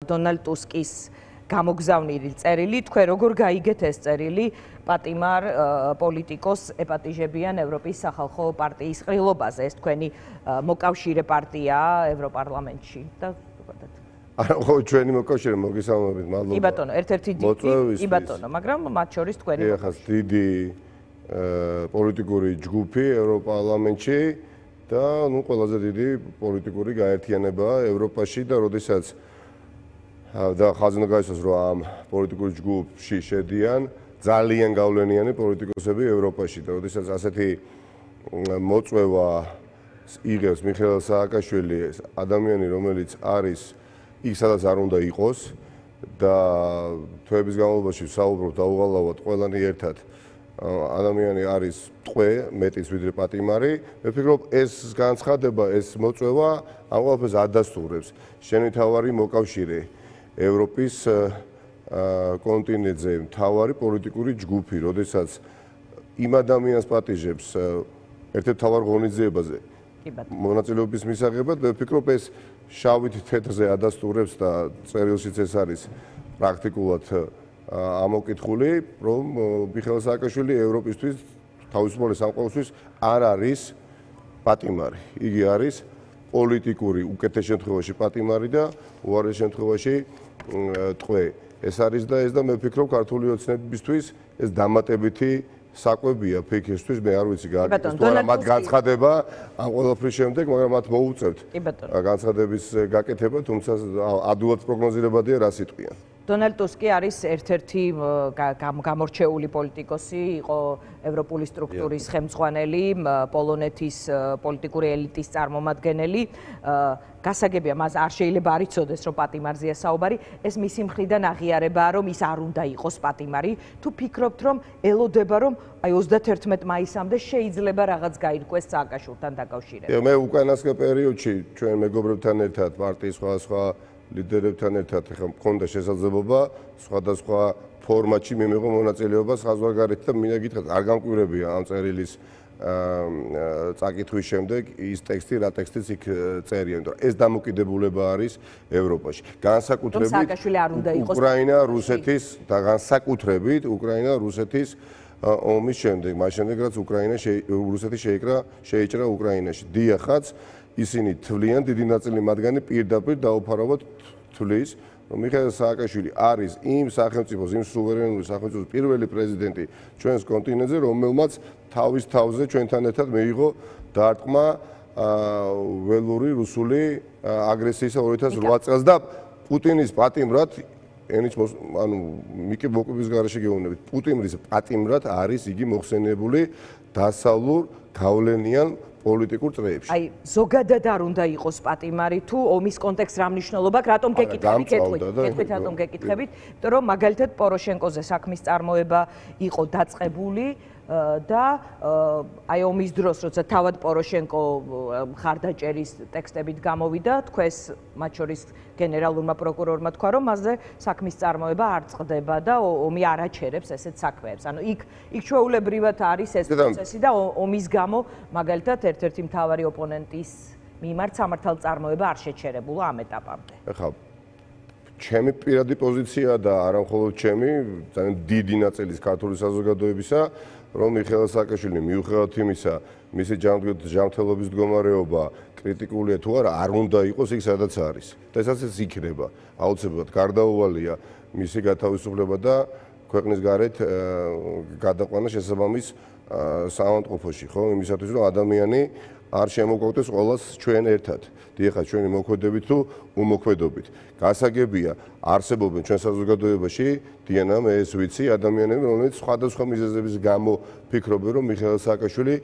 დონალდ ტუსკის გამოგზავნილი წერილი, თქვენ როგორ გაიგეთ ეს წერილი პატიმარ პოლიტიკოს ეპატიჟებიან ევროპის სახალხო პარტიის ყრილობაზე, ეს თქვენი მოკავშირე პარტიაა ევროპარლამენტში და არა, ხო, ჩვენი მოკავშირე მოგესალმებით, მადლობა. კი ბატონო, ერთ-ერთი დიდი, კი ბატონო, მაგრამ მათ შორის თქვენი ხას დიდი პოლიტიკური ჯგუფი ევროპარლამენტში და ნუ ყველაზე დიდი პოლიტიკური გაერთიანება ევროპაში და როდესაც და ხაზინა გაისვას რომ ამ პოლიტიკურ ჯგუფში შედიან ძალიან გავლენიანი პოლიტიკოსები ევროპაში და როდესაც ასეთი მოწვევა იღებს მიხეილ სააკაშვილი, ადამიანი რომელიც არის იქ სადაც არ უნდა იყოს და თვეების განმავლობაში საუბრობ დაუღალავად ყველანი ერთად ადამიანი არის ტყვე მეტიც ვიდრე პატიმარი. მე ვფიქრობ ეს განცხადება, ეს მოწვევა ამ ყველაფერს ადასტურებს. შენი თავარი მოკავშირე ევროპის კონტინენტზე მთავარი პოლიტიკური ჯგუფი, როდესაც იმ ადამიანს პატიჟებს ერთ-ერთ მთავარ ღონისძიებაზე მონაწილეობის მისაღებად, მე ვფიქრობ ეს შავით თეთრზე ადასტურებს და წერილშიც ეს არის პრაქტიკულად ამოკითხული, რომ მიხეილ სააკაშვილი ევროპისთვის თავისუფალი სამყაროსთვის არ არის პატიმარი. იგი არის პოლიტიკური უკეთეს შემთხვევაში პატიმარი და უარეს შემთხვევაში ტყვე. ეს არის და ეს და მე ვფიქრობ ქართული ოცნებისთვის ეს დამატებითი საკვებია ფიქრისთვის, მე არ ვიცი გააკეთეს თუ არა მათ განცხადება ამ ყველაფრის შემდეგ, მაგრამ მათ მოუწევთ განცხადების გაკეთება, თუმცა ადვილად პროგნოზირებადია რა სიტყვიან. დონალდ ტუსკი არის ერთ-ერთი გამორჩეული პოლიტიკოსი, იყო ევროპული სტრუქტურის ხელმძღვანელი, პოლონეთის პოლიტიკური ელიტის წარმომადგენელი. გასაგებია, მას არ შეიძლება არ იცოდეს, რომ პატიმარზეა საუბარი. ეს მისი მხრიდან აღიარებაა, რომ ის არ უნდა იყოს პატიმარი. თუ ფიქრობთ, რომ ელოდება, რომ აი 31 მაისამდე შეიძლება რაღაც გაირკვეს სააკაშვილთან დაკავშირებით? მე უკანასკნელ პერიოდში ჩვენ მეგობრებთან ერთად პარტიის სხვადასხვა ლიდერებთან ერთად მქონდა შესაძლებლობა სხვადასხვა ფორმატში მიმიღო მონაწილეობა საზღვარგარეთ და მინდა გითხრათ, არ გამკვირებია ამ წერილის წაკითხვის შემდეგ ის ტექსტი, რა ტექსტიც იქ წერია, იმიტომ რომ ეს დამოკიდებულება არის ევროპაში. განსაკუთრებით უკრაინა, რუსეთის და განსაკუთრებით უკრაინა, რუსეთის ომის შემდეგ, მას შემდეგ რაც რუსეთი შეიჭრა უკრაინაში. დიახაც ისინი თვლიან, დიდი ნაწილი მათგანი პირდაპირ დაუფარავად თვლის, რომ მიხეილ სააკაშვილი არის იმ სახელმწიფოს, იმ სუვერენული სახელმწიფოს პირველი პრეზიდენტი ჩვენს კონტინენტზე, რომელმაც თავის თავზე ჩვენთან ერთად მიიღო დარტყმა ველური რუსული აგრესიისა 2008 წელს და პუტინის პატიმრად მიკი მოკვების გარეშე გეუბნებით, პუტინის პატიმრად არის იგი მოხსენიებული დასავლურ გავლენიან პოლიტიკურ წრეებში. აი, ზოგადად არ უნდა იყოს პატიმარი თუ ომის კონტექსტს რა მნიშვნელობა აქვს, რატომ გეკითხებით? კეთვით რატომ გეკითხებით? იმიტომ რომ მაგალითად პოროშენკოზე საქმის წარმოება იყო დაწყებული და აი ომის დროს, როცა თავად პოროშენკო მხარდაჭერის ტექსტებით გამოვიდა, თქვენს მათ შორის გენერალურმა პროკურორმა თქვა, რომ მასზე საქმის წარმოება არ წყდება და ომი არ აჩერებს ესეთ საქმეებს. ანუ იქ ჩვეულებრივად არის ეს პროცესი და ომის გამო მაგალითად ერთ-ერთი მთავარი ოპონენტის მიმართ სამართალწარმოება არ შეჩერებულა ამ ეტაპამდე. ეხლა ჩემი პირადი პოზიცია და არა მხოლოდ ჩემი, ძალიან დიდი ნაწილის ქართული საზოგადოებისა, რომ მიხეილ სააკაშვილი მიუხედავად იმისა, მისი ჯანმრთელობის მდგომარეობა კრიტიკულია თუ არა, არ უნდა იყოს იქ სადაც არის. და ესაც იქნება. აუცილებლად გარდაუვალია მისი გათავისუფლება და ქვეყნის გარეთ გადაყვანა შესაბამის საავადმყოფოში, ხო? იმისათვის რომ ადამიანი არ შემოგვაქვს ყველას ჩვენ ერთად. დიახაც ჩვენი მოქმედებით თუ უმოქმედობით. გასაგებია, არსებობენ ჩვენ საზოგადოებაში, დიანა, მე ეს ვიცი, ადამიანები, რომლებიც სხვადასხვა მიზეზების გამო ფიქრობენ, რომ მიხეილ სააკაშვილი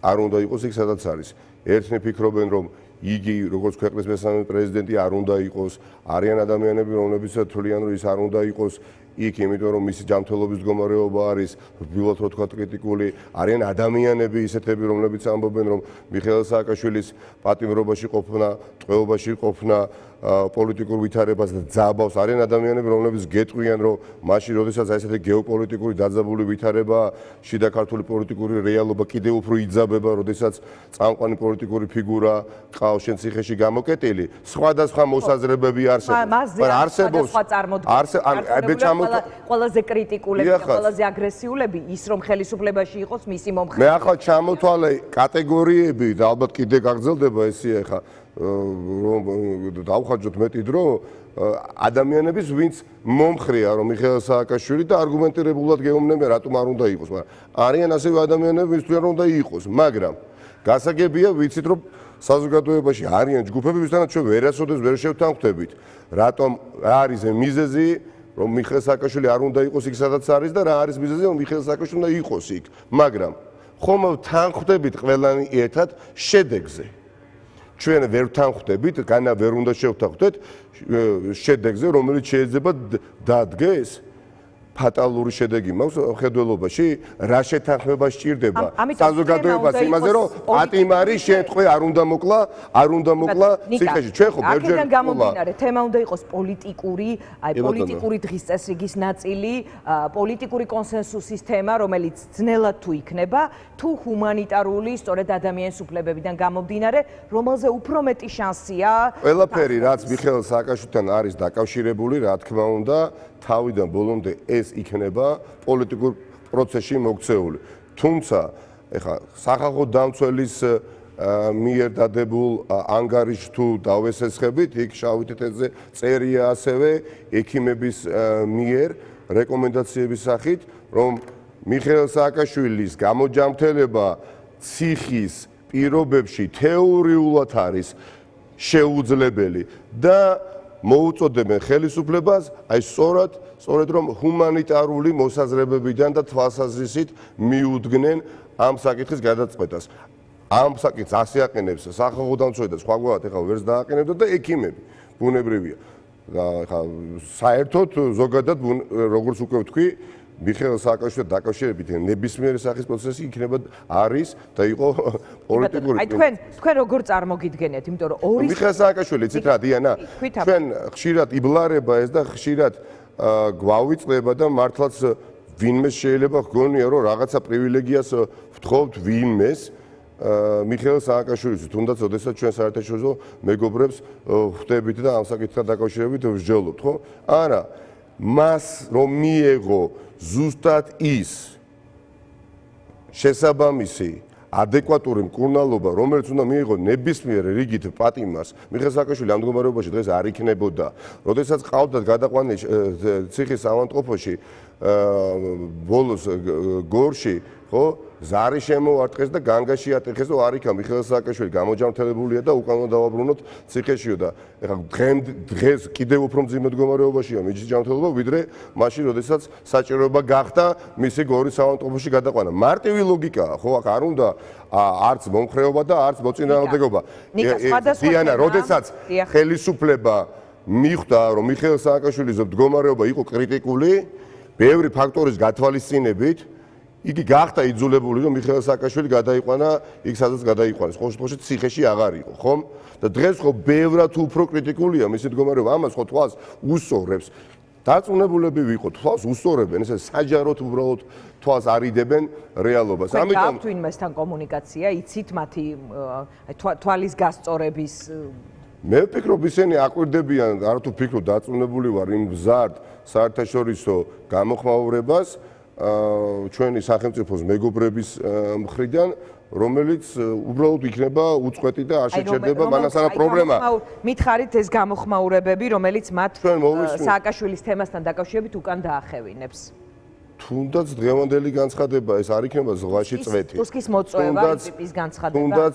არ უნდა იყოს იქ სადაც არის. ერთნი ფიქრობენ, რომ იგი როგორც ქვეყნის მესამე პრეზიდენტი არ უნდა იყოს, არიან ადამიანები, რომლებიც თვლიან, რომ ის არ უნდა იყოს. იქ, იმიტომ რომ მისი ჯანმრთელობის მდგომარეობა არის რბილად რო თქვა კრიტიკული, არიან ადამიანები ისეთები, რომლებიც ამბობენ, რომ მიხეილ სააკაშვილის პატიმრობაში ყოფნა, ტყვეობაში ყოფნა პოლიტიკურ ვითარებას და ძაბავს, არიან ადამიანები, რომლებიც გეტყვიან, რომ მაშინ, როდესაც ესეთი გეოპოლიტიკური დაძაბული ვითარება, შიდა ქართული პოლიტიკური რეალობა კიდევ უფრო იძაბება, როდესაც წამყვანი პოლიტიკური ფიგურა ყავს შენ ციხეში გამოკეტილი, სხვადასხვა მოსაზრებები არსებობს. ყველაზე კრიტიკულები და ყველაზე აგრესიულები ის რომ ხელისუფლებაში იყოს მისი მომხრე. მე ახლა ჩამოთვალე კატეგორიები და ალბათ კიდე გაგრძელდება ესე ახლა რომ დავხარჯოთ მეტი დრო ადამიანების ვინც მომხრეა რომ მიხეილ სააკაშვილი და არგუმენტირებულად გეუბნებიან რატომ არ უნდა იყოს, მაგრამ არიან ასევე ადამიანები ვინც თვლიან რომ უნდა იყოს, მაგრამ გასაგებია ვიცით რომ საზოგადოებაში არიან ჯგუფები ვისთანაც ჩვენ ვერასოდეს ვერ შევთანხმდებით რატომ რა არის მიზეზი რომ მიხეილ სააკაშვილი არ უნდა იყოს იქ სადაც არის და რა არის მიზეზი რომ მიხეილ სააკაშვილი უნდა იყოს იქ, მაგრამ ხომ თანხმდებით ყველანი ერთად შედეგზე. ჩვენ ვერ ვთანხმდებით, განა ვერ უნდა შევთანხმდეთ შედეგზე, რომელიც შეიძლება დადგეს ფატალური შედეგი მაქვს ხედველობაში, რა შეთანხმება სჭირდება საზოგადოებას იმაზე, რომ პატიმარი შემთხვე არ უნდა მოკლა ციხეში. ჩვენ ხო ბერჯერ აქედან გამომდინარე, თემა უნდა იყოს პოლიტიკური, პოლიტიკური დღის წესრიგის ნაწილი, პოლიტიკური კონსენსუსის თემა, რომელიც ძნელად თუ იქნება, თუ ჰუმანიტარული, სწორედ ადამიანის უფლებებიდან გამომდინარე, რომელზე უფრო მეტი შანსია. ყველაფერი, რაც მიხეილ სააკაშვილთან არის დაკავშირებული, რა თქმა უნდა, თავიდან ბოლომდე ეს იქნება პოლიტიკურ პროცესში მოქცეული. თუმცა, ეხლა სახალხო დამცველის მიერ დადებულ ანგარიშს თუ დავესესხებით, იქ შავი თეთრზე წერია ასევე ექიმების მიერ რეკომენდაციების სახით, რომ მიხეილ სააკაშვილის გამოჯანმრთელება ციხის პირობებში თეორიულად არის შეუძლებელი და მოუწოდებენ ხელისუფლებას აი სწორედ რომ ჰუმანიტარული მოსაზრებებიდან და თვალსაზრისით მიუდგნენ ამ საკითხის გადაწყვეტას. ამ საკითხს ასე აყენებს სახალხო დამცველი და სხვაგვარად ეხლა ვერც დააყენებდა და ექიმები ბუნებრივია. და ეხლა საერთოდ ზოგადად როგორც უკვე ვთქვი, მიხეილ სააკაშვილთან დაკავშირებით ნებისმიერი სახის პროცესი იქნება არის და იყო პოლიტიკური. აი თქვენ როგორ წარმოგიდგენიათ, იმიტომ რომ ორი მიხეილ სააკაშვილი იცით რა დიანა? ჩვენ ხშირად იბლარება ეს და ხშირად გვავიწყდება და მართლაც ვინმეს შეიძლება გქონია რომ რაღაცა პრივილეგიას ვთხოვთ ვინმეს მიხეილ სააკაშვილის, თუნდაც ოდესაც ჩვენ საერთაშორისო მეგობრებს ხვდებით და ამ საკითხთან დაკავშირებით ვსჯელობთ, ხო? არა, მას რომ მიეღო ზუსტად ის შესაბამისი ადეკვატური მკურნალობა, რომელიც უნდა მიიღო ნებისმიერ რიგით პატიმარს, მიხეილ სააკაშვილი ამ მდგომარეობაში დღეს არ იქნებოდა. როდესაც ყავდათ გადაყვანილი ციხის ავადმყოფოში ბოლოს გორში, ხო, ზარი შემოარტყეს და განგაში ატეხეს და არ იქა მიხეილ სააკაშვილი გამოჯანმრთელებულია და უკან უნდა დავაბრუნოთ ციხეშიო და ეხლა დღეს კიდევ უფრო მძიმე მდგომარეობაშია მისი ჯანმრთელობა ვიდრე მაშინ როდესაც საჭიროება გახდა მისი გორის ავადმყოფოში გადაყვანა. მარტივი ლოგიკაა, ხო, აქ არ უნდა არც მომხრეობა და არც მოწინააღმდეგობა. დიანა, როდესაც ხელისუფლება მიხვდა რომ მიხეილ სააკაშვილის მდგომარეობა იყო კრიტიკული, ბევრი ფაქტორის გათვალისწინებით იგი გახდა იძულებული რომ მიხეილ სააკაშვილი გადაიყვანა იქ სადაც გადაიყვანეს. ხო შემთხვევაში ციხეში აღარ იყო, ხომ? და დღეს ხო ბევრად უფრო კრიტიკულია მისი მდგომარეობა. ამას ხო თვალს უსწორებს. დაწუნებულები ვიყოთ, თვალს უსწორებენ, ესე საჯაროდ უბრალოდ თვალს არიდებენ რეალობას. ამიტომ თვინმესთან კომუნიკაცია, იცით მათი თვალის გასწორების მე ვფიქრობ ისინი აკვირდებიან, არათუ ვფიქრობ დაწუნებული ვარ იმ მზარდ საერთაშორისო გამოხმაურებას ჩვენი სახელმწიფოს მეგობრების მხრიდან, რომელიც უბრალოდ იქნება უწყვეტი და არ შეჩერდება მანასანა პრობლემა. მითხარით ეს გამოხმაურებები, რომელიც მათ სააკაშვილის თემასთან დაკავშირებით უკან დაახევინებს. თუნდაც დღევანდელი განცხადება ეს არ იქნება ზღვაში წვეთი. ტუსკის მოწვევა ტიპის განცხადება. თუნდაც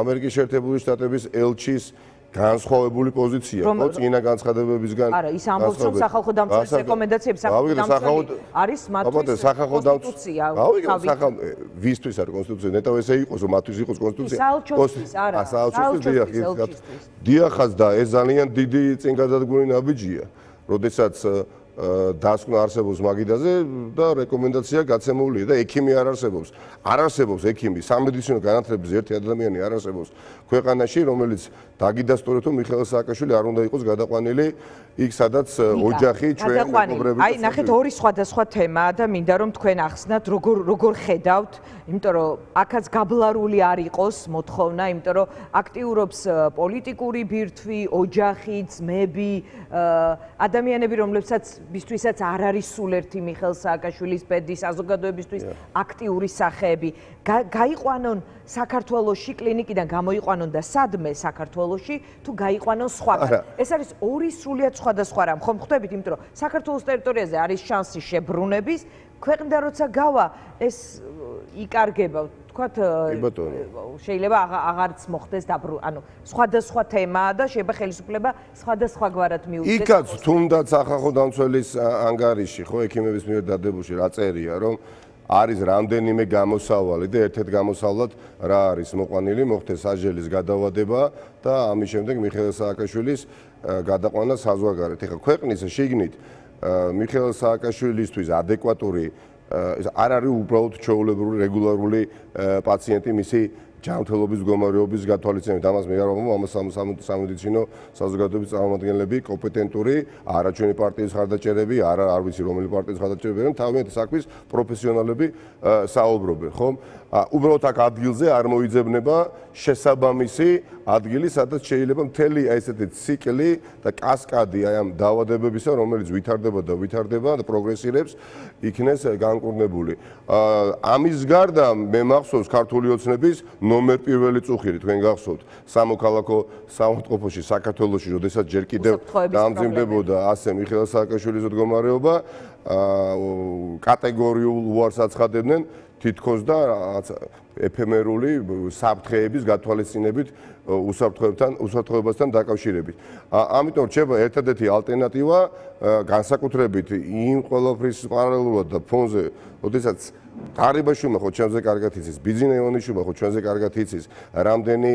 ამერიკის შეერთებული შტატების ელჩის განსხვავებული პოზიცია, ხო, წინა განცხადებებისგან. არა, ის ამბობს, რომ სახალხო დამცველის რეკომენდაციები არის მათთვის კონსტიტუცია. ვისთვის არის კონსტიტუცია? ნეტავ ესე იყოს, რომ მათთვის იყოს კონსტიტუცია. საელჩოსთვის არა. დიახაც და ეს ძალიან დიდი წინგადადგმული ნაბიჯია. როდესაც დასკვნა არსებობს მაგიდაზე და რეკომენდაცია გაცემულია და ექიმი არ არსებობს. არ არსებობს ექიმი, სამედიცინო განათლების ერთი ადამიანი არ არსებობს ქვეყანაში, რომელიც დაგიდასტურებს, რომ მიხეილ სააკაშვილი არ უნდა იყოს გადაყვანილი იქ, სადაც ოჯახი ჩვენ მეგობრები. აი, ნახეთ, ორი სხვადასხვა თემაა და მინდა რომ თქვენ ახსნათ, როგორ ხედავთ, იმიტომ რომ აქაც გაბლარული არ იყოს მოთხოვნა, იმიტომ რომ აქტიურობს პოლიტიკური ბირთვი, ოჯახი, ძმები, ადამიანები, რომლებსაც ბისთვისაც არ არის სულ ერთი მიხეილ სააკაშვილის ბედი, საზოგადოებისთვის აქტიური სახეები. გაიყვანონ საქართველოში, კლინიკიდან გამოიყვანონ და სადმე საქართველოში, თუ გაიყვანონ სხვაგან. ეს არის ორი სრულიად სხვადასხვა რამ, ხომ ხვდებით, იმიტომ რომ საქართველოს ტერიტორიაზე არის შანსი შებრუნების, ქვეყნიდან როცა გავა, ეს იკარგება, თქვათ, შეიძლება აღარც მოხდეს ანუ სხვადასხვა თემაა და შეიძლება ხელისუფლება სხვადასხვაგვარად მიუწეს. იქაც თუნდაც სახალხო დამცველის ანგარიში, ხო, ექიმების მიერ დადებულში რა წერია, რომ არის რამდენიმე გამოსავალი და ერთ-ერთ გამოსავლად რა არის მოყვანილი, მოხდეს საჟელის გადავადება და ამის შემდეგ მიხეილ სააკაშვილის გადაყვანა საზღვარგარეთ. ეხლა ქვეყნის შიგნით მიხეილ სააკაშვილისთვის ადეკვატური არ არის უბრალოდ ჩვეულებრივი რეგულარული პაციენტი მისი ჯანმრთელობის მდგომარეობის გათვალისწინებით. ამას მე არ ვამბობ, ამას სამედიცინო საზოგადოების წარმომადგენლები, კომპეტენტური, არა ჩვენი პარტიის ხარდაჭერები, არ ვიცი რომელი პარტიის ხარდაჭერები, მაგრამ თავიანთი საქმის პროფესიონალები საუბრობენ, ხომ? უბრალოდ აქ ადგილზე არ მოიძებნება შესაბამისი ადგილი, სადაც შეიძლება მთელი აი ესეთი ციკლი და კასკადი აი ამ დაავადებებისა, რომელიც ვითარდება და პროგრესირებს, იქნეს განკურნებული. ამის გარდა მე მახსოვს ქართული ოცნების ნომერ პირველი წუხირი, თქვენ გახსოვთ, სამოქალაქო საავადმყოფოში საქართველოში, როდესაც ჯერ კიდევ დამძიმდებოდა ასე მიხეილ სააკაშვილის მდგომარეობა, კატეგორიულ უარს აცხადებდნენ თითქოს და ეფემერული საფრთხეების გათვალისწინებით უსაფრთხოებასთან დაკავშირებით. ამიტომ რჩება ერთადერთი ალტერნატივა განსაკუთრებით იმ ყველაფრის პარალელურად და ფონზე, როდესაც ყარიბაშვილმა ხო ჩვენზე კარგად იცის, ბიძინა ივანიშვილმა ხო ჩვენზე კარგად იცის, რამდენი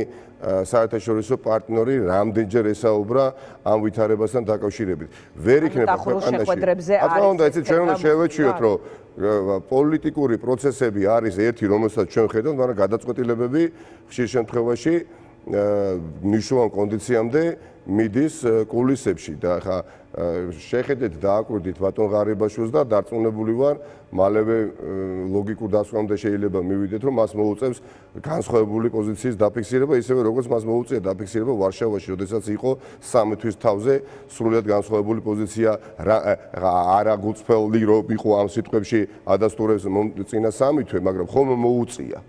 საერთაშორისო პარტნიორი რამდენჯერ ესაუბრა ამ ვითარებასთან დაკავშირებით. ვერ იქნება ქვეყანაში. რა იცით, ჩვენ უნდა შევეჩვიოთ, რომ პოლიტიკური პროცესები არის ერთი, რომელსაც ჩვენ ხედავთ, მაგრამ გადაწყვეტილებები ხშირ შემთხვევაში მნიშვნელოვან კონდიციამდე მიდის კულისებში და ხა შეხედეთ დააკვირდით ბატონ ღარიბაშვილს და დარწმუნებული ვარ, მალევე ლოგიკურ დასკვნამდე შეიძლება მივიდეთ, რომ მას მოუწევს განსხვავებული პოზიციის დაფიქსირება, ისევე როგორც მას მოუწია დაფიქსირება ვარშავაში, როდესაც იყო სამი თვის თავზე სრულიად განსხვავებული პოზიცია, არა გულწრფელი რო იყო ამ სიტყვებში ადასტურებს წინა სამი თვე, მაგრამ ხომ მოუწია.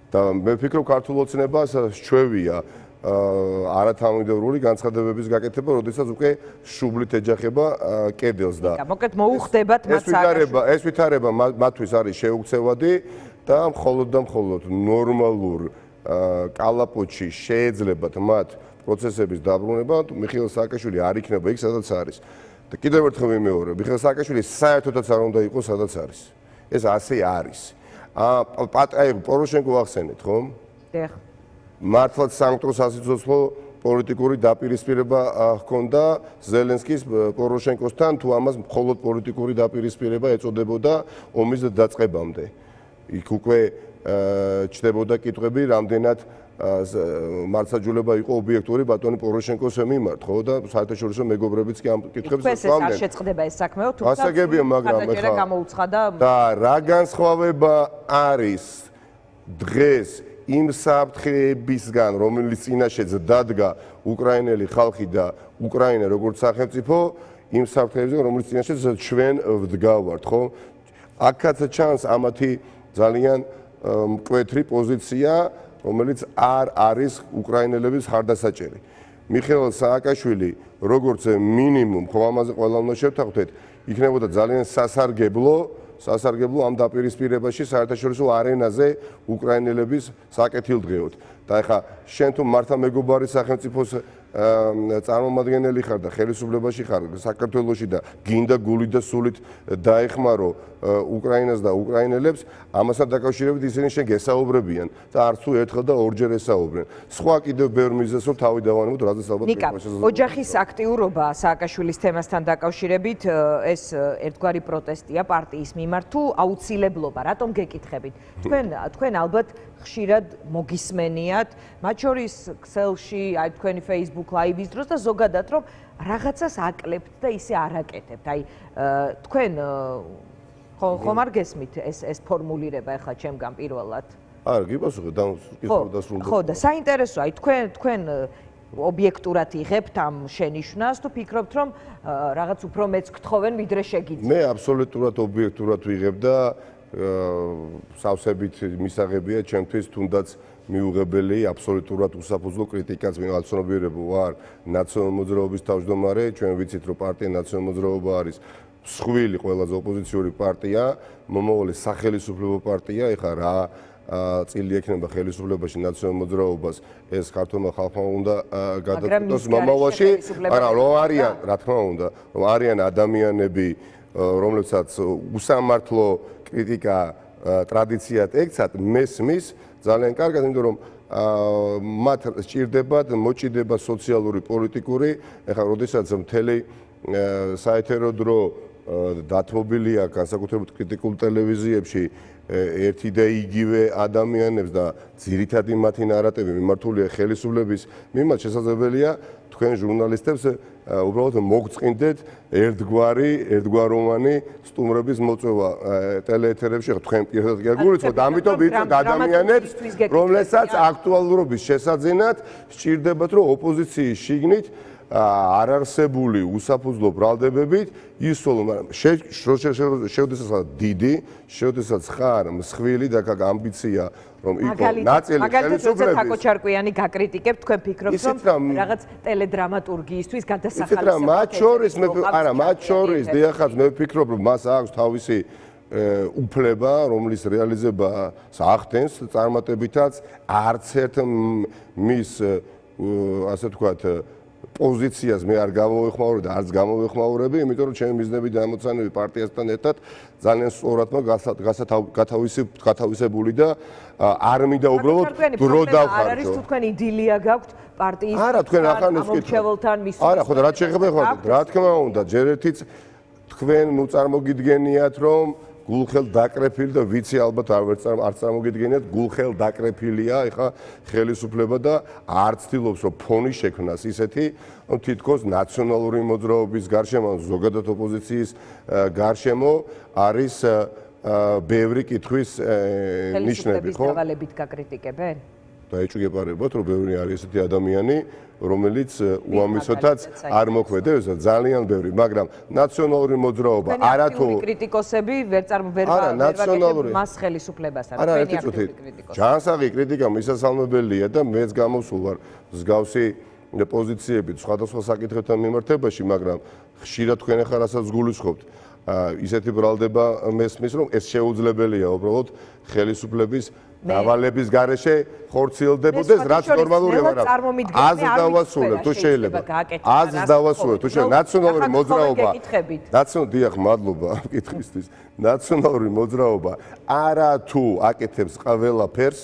და მე ვფიქრობ, ქართულ ოცნებას ჩვევია არათანმიმდევრული განცხადებების გაკეთება, როდესაც უკვე შუბლით ეჯახება კედელს და მოკლედ მოუხდებათ მათ ეს ვითარება მათთვის არის შეუქცევადი და მხოლოდ ნორმალურ კალაპოტში შეეძლებათ მათ პროცესების დაბრუნება, მიხეილ სააკაშვილი არ იქნება იქ, სადაც არის. და კიდევ ერთხელ ვიმეორებ, მიხეილ სააკაშვილი საერთოდაც არ უნდა იყოს, სადაც არის. ეს ასე არის. აი პოროშენკო ახსენეთ, ხო? დიახ. მართლაც სამკვდრო სასიცოცხლო პოლიტიკური დაპირისპირება ჰქონდა ზელენსკის პოროშენკოსთან, თუ ამას მხოლოდ პოლიტიკური დაპირისპირება ეწოდებოდა ომის დაწყებამდე. იქ უკვე ჩდებოდა კითხვები, რამდენად მართლმსაჯულება იყო ობიექტური ბატონი პოროშენკოს მიმართ, ხო და საერთაშორისო მეგობრებიც კი ამ კითხვებს ვსვამდნენ. ეს არ შეწყდება ეს საქმეო, თუმცა ასაგებია, მაგრამ ხა გამოუცხადა და რა განსხვავება არის დღეს იმ საფრთხეებისგან, რომელიც წინაშეც დადგა უკრაინელი ხალხი და უკრაინა როგორც სახელმწიფო, იმ საფრთხეებისგან, რომელიც წინაშეც ჩვენ ვდგავართ, ხო? აქაც ჩანს ამათი ძალიან მკვეთრი პოზიცია, რომელიც არ არის უკრაინელების ხარდასაჭერი. მიხეილ სააკაშვილი, როგორც მინიმუმ, ხო ამაზე ყველა უნდა შევთანხმდეთ, იქნებოდა ძალიან სასარგებლო ამ დაპირისპირებაში საერთაშორისო არენაზე უკრაინელების საკეთილდღეოდ. და ეხლა შენ თუ მართა მეგობარი სახელმწიფოს წარმომადგენელი ხარ და ხელისუფლებაში ხარ საქართველოში და გინდა გულით და სულით დაეხმარო უკრაინას და უკრაინელებს, ამასთან დაკავშირებით ისინი შენ გესაუბრებიან და არც თუ ერთხელ და ორჯერ ესაუბრენ. სხვა კიდევ ბევრ მიზეზს რომ თავი დავანებოთ, რაზეც ალბათ ოჯახის აქტიურობა სააკაშვილის თემასთან დაკავშირებით ეს ერთგვარი პროტესტია პარტიის მიმართ თუ აუცილებლობა, რატომ გეკითხებით? თქვენ ალბათ ხშირად მოგისმენიათ, მათ შორის ქსელში, აი თქვენი Facebook Live-ის დროს და ზოგადად რომ რაღაცას აკლებთ და ისე არ აკეთებთ. აი თქვენ ხომ არ გესმით ეს ფორმულირება ახლა ჩემგან პირველად? არა, გიპასუხე დასრულდა. ხო, და საინტერესოა, აი თქვენ ობიექტურად იღებთ ამ შენიშვნას თუ ფიქრობთ რომ რაღაც უფრო მეც გთხოვენ ვიდრე შეგიძლიათ? მე აბსოლუტურად ობიექტურად ვიღებ და სავსებით მისაღებია ჩემთვის თუნდაც მიუღებელი აბსოლუტურად უსაფუძვლო კრიტიკაც მეცნობიერებო ვარ ნაციონალურ მოძრაობის თავმჯდომარე, ჩვენ ვიცით რომ პარტია ნაციონალურ მოძრაობა არის მსხვილი ყველაზე ოპოზიციური პარტია, მომავალი სახელისუფლებო პარტია, ეხლა რა წილი ექნება ხელისუფლებაში ნაციონალურ მოძრაობას, ეს ქართულმა ხალხმა უნდა გადაწყვეტოს მომავალში, არა რომ არიან, რა თქმა უნდა, რომ არიან ადამიანები, რომლებსაც უსამართლო კრიტიკა ტრადიციად ექცათ, მესმის ძალიან კარგად, იმიტომ რომ მათ სჭირდებათ მოჭიდება სოციალური, პოლიტიკური, ეხლა როდესაც მთელი საეთერო დრო დათმობილია განსაკუთრებით კრიტიკულ ტელევიზიებში ერთი და იგივე ადამიანებს და ძირითადი მათი ნარატივი მიმართულია ხელისუფლების მიმართ, შესაძლებელია თქვენ ჟურნალისტებს უბრალოდ მოგწყინდეთ ერთგვაროვანი სტუმრების მოწვევა ტელეეთერებში, თქვენ პირადად კი არ გულისხმობთ, ამიტომ ვიცით ადამიანებს, რომლებსაც აქტუალურობის შესაძენად სჭირდებათ, რომ ოპოზიციის შიგნით არარსებული უსაფუძვლო ბრალდებებით ისოლო, მაგრამ შეუდესაც დიდი, შეუდესაც ხარ მსხვილი და გაგ ამბიცია რომ იყო ნაწილი ხელისუფლების. თაკო ჩარკვიანი გაკრიტიკებთ, თქვენ ფიქრობთ რომ რაღაც ტელედრამატურგიისთვის გადასახადი მათ შორის მათ შორის დიახაც მე ვფიქრობ რომ მას აქვს თავისი უფლება, რომლის რეალიზებას ახდენს წარმატებითაც არც ერთ მის ასე ვთქვათ პოზიციას მე არ გამოვეხმაურებ და არც გამოვეხმაურები, იმიტომ რომ ჩემი მიზნები და ამოცანები პარტიასთან ერთად ძალიან სწორად გათავისებული და არ მინდა უბრალოდ დრო დავხარჯო. არ არის თუ თქვენ იდილია გაქვთ პარტიის არა, თქვენ ახლა ამომრჩეველთან მის არა, ხო და რა შეიძლება ხო? რა თქმა უნდა, ჯერ ერთიც თქვენ მოწარმოგიდგენიათ რომ გულხელ დაკრეფილი და ვიცი ალბათ არ წარმოგიდგენიათ გულხელ დაკრეფილია ეხა ხელისუფლება და არ ცდილობს რომ ფონი შექმნას ისეთი რომ თითქოს ნაციონალური მოძრაობის გარშემო ზოგადად ოპოზიციის გარშემო არის ბევრი კითხვის ნიშნები, ხო? დავალებით გაკრიტიკებენ? დაიჭირებათ რომ ბევრი არის ესეთი ადამიანი რომელიც უამისოდაც არ მოქმედებს ძალიან ბევრი, მაგრამ ნაციონალური მოძრაობა არათუ კრიტიკოსები ვერ ვაკეთებ მას ხელისუფლებასთან. თქვენი აქტიური კრიტიკოსი. ჯანსაღი კრიტიკა მისასალმებელია და მეც გამოსულ ვარ მსგავსი პოზიციებით სხვადასხვა საკითხებთან მიმართებაში, მაგრამ ხშირად თქვენ ახლა რასაც გულისხმობთ ისეთი ბრალდება მესმის რომ ეს შეუძლებელია უბრალოდ ხელისუფლების დავალების გარეშე ხორციელდებოდეს, რაც ნორმალურია, მაგრამ აზრს დავასრულებ, თუ შეიძლება. აზრს დავასრულებ, თუ შეიძლება. ნაციონალური მოძრაობა. დიახ, მადლობა კითხვისთვის. ნაციონალური მოძრაობა არა თუ აკეთებს ყველაფერს,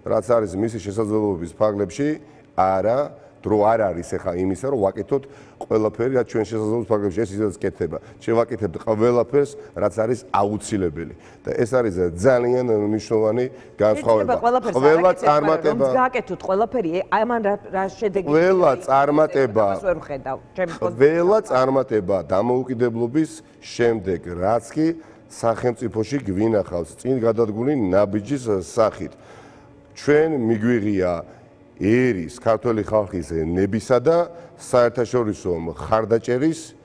რაც არის მისი შესაძლებლობის ფარგლებში, არა დრო არ არის ახლა იმისა, რომ ვაკეთოთ ყველაფერი, რაც ჩვენ შესაძლებლობის ფარგლებში ეს ისედაც კეთდება. შევაკეთებთ ყველაფერს, რაც არის აუცილებელი. და ეს არის ძალიან მნიშვნელოვანი განსხვავება. ყველა წარმატება გააკეთოთ ყველაფერი, ამან რა შედეგი ყველა წარმატება დამოუკიდებლობის შემდეგ, რაც კი სახელმწიფოში გვინახავს წინ გადადგმული ნაბიჯის სახით. ჩვენ მიგვიღია ერის ქართული ხალხის ნებისა და საერთაშორისო მხარდაჭერის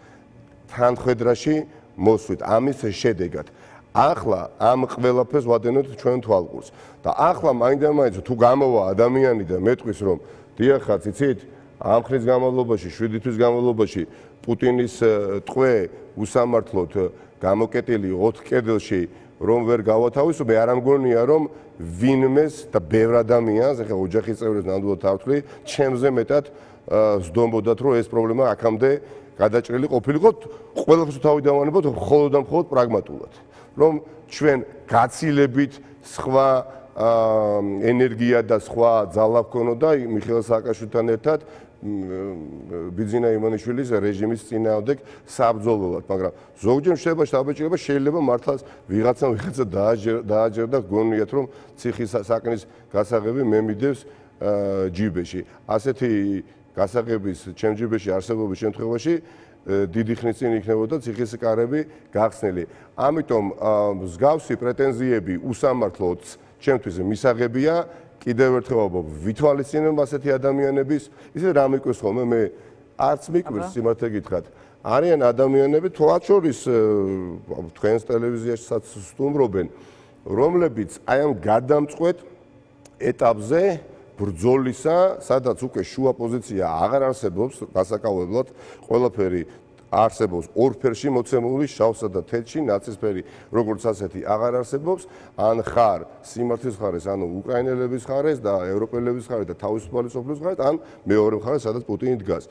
თანხმედრაში მოსვით ამის შედეგად. ახლა ამ ყველაფერს ვადენოთ ჩვენ თვალყურს და ახლა მაინდა-მაინც თუ გამოვა ადამიანი და მეტყვის რომ დიახაც იცით ამ ხნის განმავლობაში 7 თვის განმავლობაში პუტინის ტყვე უსამართლოდ გამოკეტილი 4 კედელში რომ ვერ გავათავისუფლე, არ ამგონია რომ ვინმეს და ბევრ ადამიანს, ახლა ოჯახის წევრებს ნამდვილად ავთვლი, ჩემზე მეტად ზდომბოდათ, რომ ეს პრობლემა აქამდე გადაჭრილი ყოფილიყო, ყველაფერს თავი დავანებოთ მხოლოდ და მხოლოდ პრაგმატულად. რომ ჩვენ გაცილებით სხვა ენერგია და სხვა ძალა გქონოდა მიხეილ სააკაშვილთან ერთად ბიძინა იმანიშვილის რეჟიმის წინააღმდეგ საბრძოლველად, მაგრამ ზოგჯერ შეიძლება მართლაც ვიღაცა დააჯერდა გონიათ რომ ციხის საქმის გასაღები მე მიდევს ჯიბეში. ასეთი გასაღების ჩემ ჯიბეში არსებობის შემთხვევაში დიდი ხნის წინ იქნებოდა ციხის კარები გახსნილი. ამიტომ მსგავსი პრეტენზიები უსამართლოდ ჩემთვის მისაღებია. კიდევ ერთხელ ვითვალისწინებ ასეთი ადამიანების, ისე რა მიკვირს ხოლმე მე არც მიკვირს სიმართლე გითხრათ. არიან ადამიანები თვალ შორის თქვენს ტელევიზიაშიც სტუმრობენ, რომლებიც აი ამ გადამწყვეტ ეტაპზე ბრძოლისა, სადაც უკვე შუა პოზიცია აღარ არსებობს, გასაკავებლად ყველაფერი არსებობს ორ ფერში მოცემული, შავსა და თეთრში, ნაცისფერი როგორც ასეთი აღარ არსებობს, ან ხარ სიმართლის მხარეს, ანუ უკრაინელების მხარეს და ევროპელების მხარეს და თავისუფალი სოფლის მხარეს, ან მეორე მხარეს, სადაც პუტინი დგას.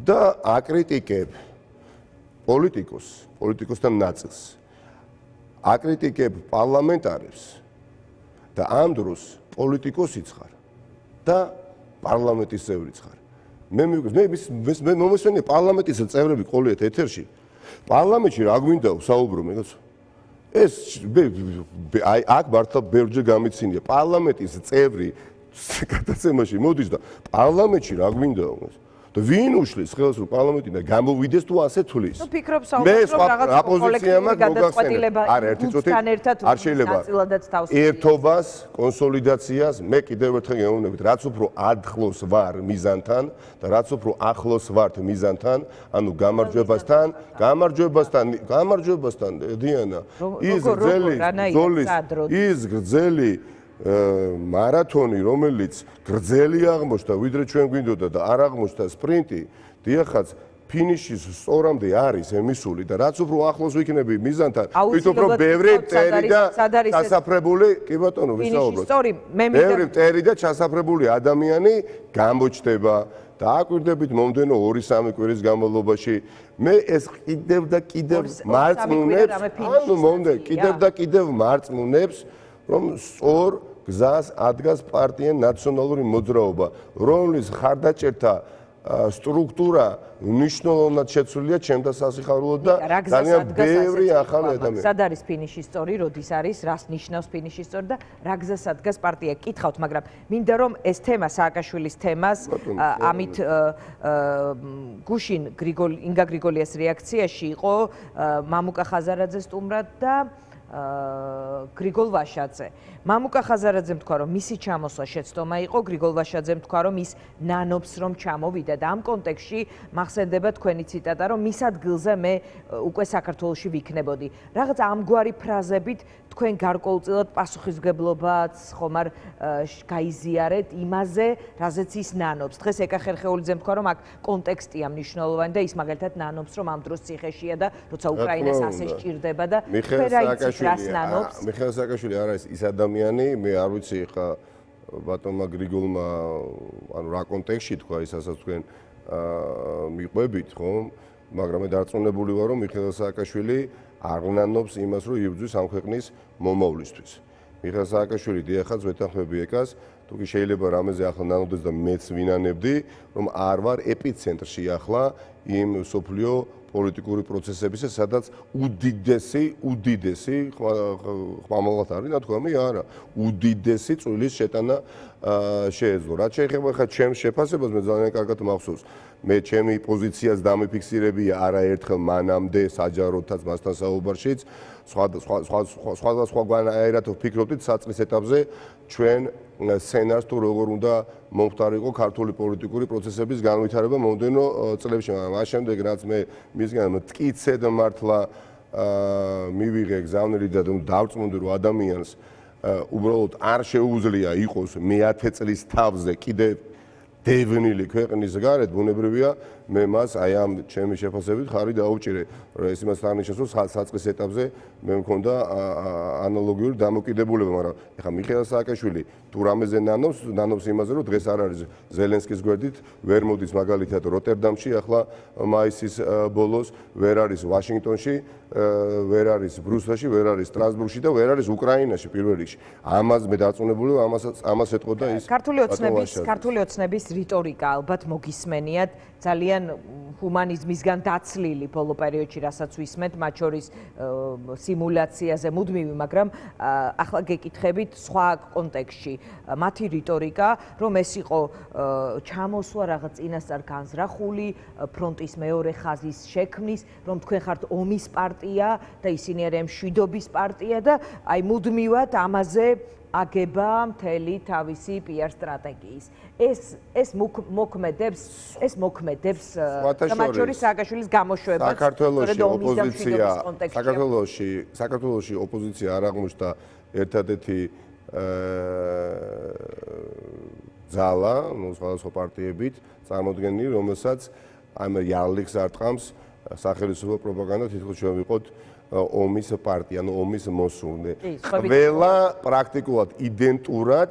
და აკრიტიკებ პოლიტიკოსთან ნაწილს. აკრიტიკებ პარლამენტარებს და ამ დროს პოლიტიკოსიც ხარ და პარლამენტის წევრიც ხარ. მე მომესვენია პარლამენტის წევრები ყოლიათ ეთერში. პარლამენტში რა გვინდა საუბრო მეგოც? ეს აი აქ მართლა ბევრჯერ გამიცინია. პარლამენტის წევრი გადაცემაში მოდის და პარლამენტში რა გვინდა? და ვინ უშლის ხელს რომ პარლამენტიდან გამოვიდეს თუ ასე თulis? ნუ ფიქრობ საუბარს რომ რაღაც ოპოზიცია გადაწყვეტილება არ შეიძლება ერთობას, კონსოლიდაციას მე კიდევ ერთხელ გეუბნებით, რაც უფრო ახლოს ვარ მიზანთან და რაც უფრო ახლოს ვართ მიზანთან, ანუ გამარჯვებასთან დიანა ის გრძელი მარათონი, რომელიც გრძელი აღმოჩნდა, ვიდრე ჩვენ გვინდოდა და არ აღმოჩნდა სპრინტი, დიახაც ფინიშის სწორამდე არის ემისული და რაც უფრო ახლოს ვიქნები მიზანთან, ვით უფრო ბევრი მტერი და ჩასაფრებული, კი ბატონო, ვისაუბროთ. ბევრი მტერი და ჩასაფრებული ადამიანი გამოჩნდება და აკვირდებით მომდენო 2-3 კვირის განმავლობაში. მე ეს კიდევ და კიდევ მარწმუნებს, რომ სწორ გზას ადგას პარტია ნაციონალური მოძრაობა, რომლის ხარდაჭერთა სტრუქტურა მნიშვნელოვნად შეცვლილია ჩემთა სასიხარულოდ და ძალიან ბევრი ახალი ადამიანი. სად არის ფინიშის სწორი, როდის არის, რას ნიშნავს ფინიშის სწორი და რა გზას ადგას პარტია? კითხავთ, მაგრამ მინდა რომ ეს თემა სააკაშვილის თემას ამით გუშინ ინგა გრიგოლიას რეაქციაში იყო მამუკა ხაზარაძე სტუმრად და გრიგოლ ვაშაძე. მამუკა ხაზარაძემ თქვა, რომ მისი ჩამოსვლა შეცდომა იყო, გრიგოლ ვაშაძემ თქვა, რომ ის ნანობს რომ ჩამოვიდა და ამ კონტექსტში მახსენდება თქვენი ციტატა, რომ მის ადგილზე მე უკვე საქართველოში ვიქნებოდი. რაღაც ამგვარი ფრაზებით თქვენ გარკვეულწილად პასუხისმგებლობაც ხომ არ გაიზიარეთ იმაზე, რაზეც ის ნანობს. დღეს ეკა ხერხეულიძემ თქვა, რომ აქ კონტექსტია მნიშვნელოვანი და ის მაგალითად ნანობს, რომ ამ დროს ციხეშია და როცა უკრაინას ასე სჭირდება და მიხეილ სააკაშვილი არ არის ის ადამიანი, მე არ ვიცი ხა ბატონმა გრიგოლმა ანუ რა კონტექსტში თქვა ის, ასაც თქვენ მიყვებით, ხო? მაგრამ მე დარწმუნებული ვარ, რომ მიხეილ სააკაშვილი არ ნანობს იმას, რომ იბრძვის ამ ქვეყნის მომავლისთვის. მიხეილ სააკაშვილი დიახაც ვეთანხმები ეკას, თუ კი შეიძლება რამეზე ახლა ნანოდეს და მეც ვინანებდი, რომ არ ვარ ეპიცენტრში ახლა იმ სოფლიო პოლიტიკური პროცესებისა, სადაც უდიდესი ხმამაღლად არის ნათქვამი, არა, უდიდესი წვლილის შეტანა შეეძლო. რაც შეეხება ხა ჩემს შეფასებას, მე ძალიან კარგად მახსოვს. მე ჩემი პოზიციას დამიფიქსირებია არაერთხელ მანამდე საჯაროდაც მასთან საუბარშიც, სხვადასხვაგვარად ვფიქრობდით საწყის ეტაპზე ჩვენ სცენარს თუ როგორ უნდა მომხდარიყო ქართული პოლიტიკური პროცესების განვითარება მომდენო წლებში, მაგრამ მას შემდეგ რაც მე მისგან მტკიცედ მართლა მივიღე გზავნილი და დავწმუნდი რომ ადამიანს უბრალოდ არ შეუძლია იყოს მე-10 წლის თავზე კიდე დევნილი ქვეყნის გარეთ, ბუნებრივია მე მას აი ამ ჩემი შეფასებით ხარი დაუჭირე. ეს იმას აღნიშნავს, რომ საწყის ეტაპზე მე მქონდა ანალოგიური დამოკიდებულება, მაგრამ ეხლა მიხეილ სააკაშვილი თუ რამეზე ნანობს იმაზე, რომ დღეს არ არის ზელენსკის გვერდით, ვერ მოდის მაგალითად როტერდამში, ახლა მაისის ბოლოს, ვერ არის ვაშინგტონში, ვერ არის ბრუსელში, ვერ არის სტრასბურგში და ვერ არის უკრაინაში პირველ რიგში. ამას მე დარწმუნებული ვარ, ამას ეტყოდა ის ქართული ოცნების რიტორიკა ალბათ მოგისმენიათ ძალიან ჰუმანიზმისგან დაცლილი ბოლო პერიოდში, რასაც ვისმენთ, მათ შორის სიმულაციაზე მუდმივი, მაგრამ ახლა გეკითხებით სხვა კონტექსტში მათი რიტორიკა, რომ ეს იყო ჩამოსვლა რაღაც წინასწარ განზრახული ფრონტის მეორე ხაზის შექმნის, რომ თქვენ ხართ ომის პარტია და ისინი არიან მშვიდობის პარტია და აი მუდმივად ამაზე აგება მთელი თავისი PR სტრატეგიის. ეს მოქმედებს და მათ შორის სააკაშვილის გამოშვებას. საქართველოში ოპოზიცია არ აღმოჩნდა ერთადერთი ძალა, სხვადასხვა პარტიებით წარმოდგენილი, რომელსაც ამ იარლიქს არტყამს სახელმწიფო პროპაგანდა, თითქოს ჩვენ ვიყოთ ომის პარტია, ანუ ომის მოსურნე. ყველა პრაქტიკულად იდენტურად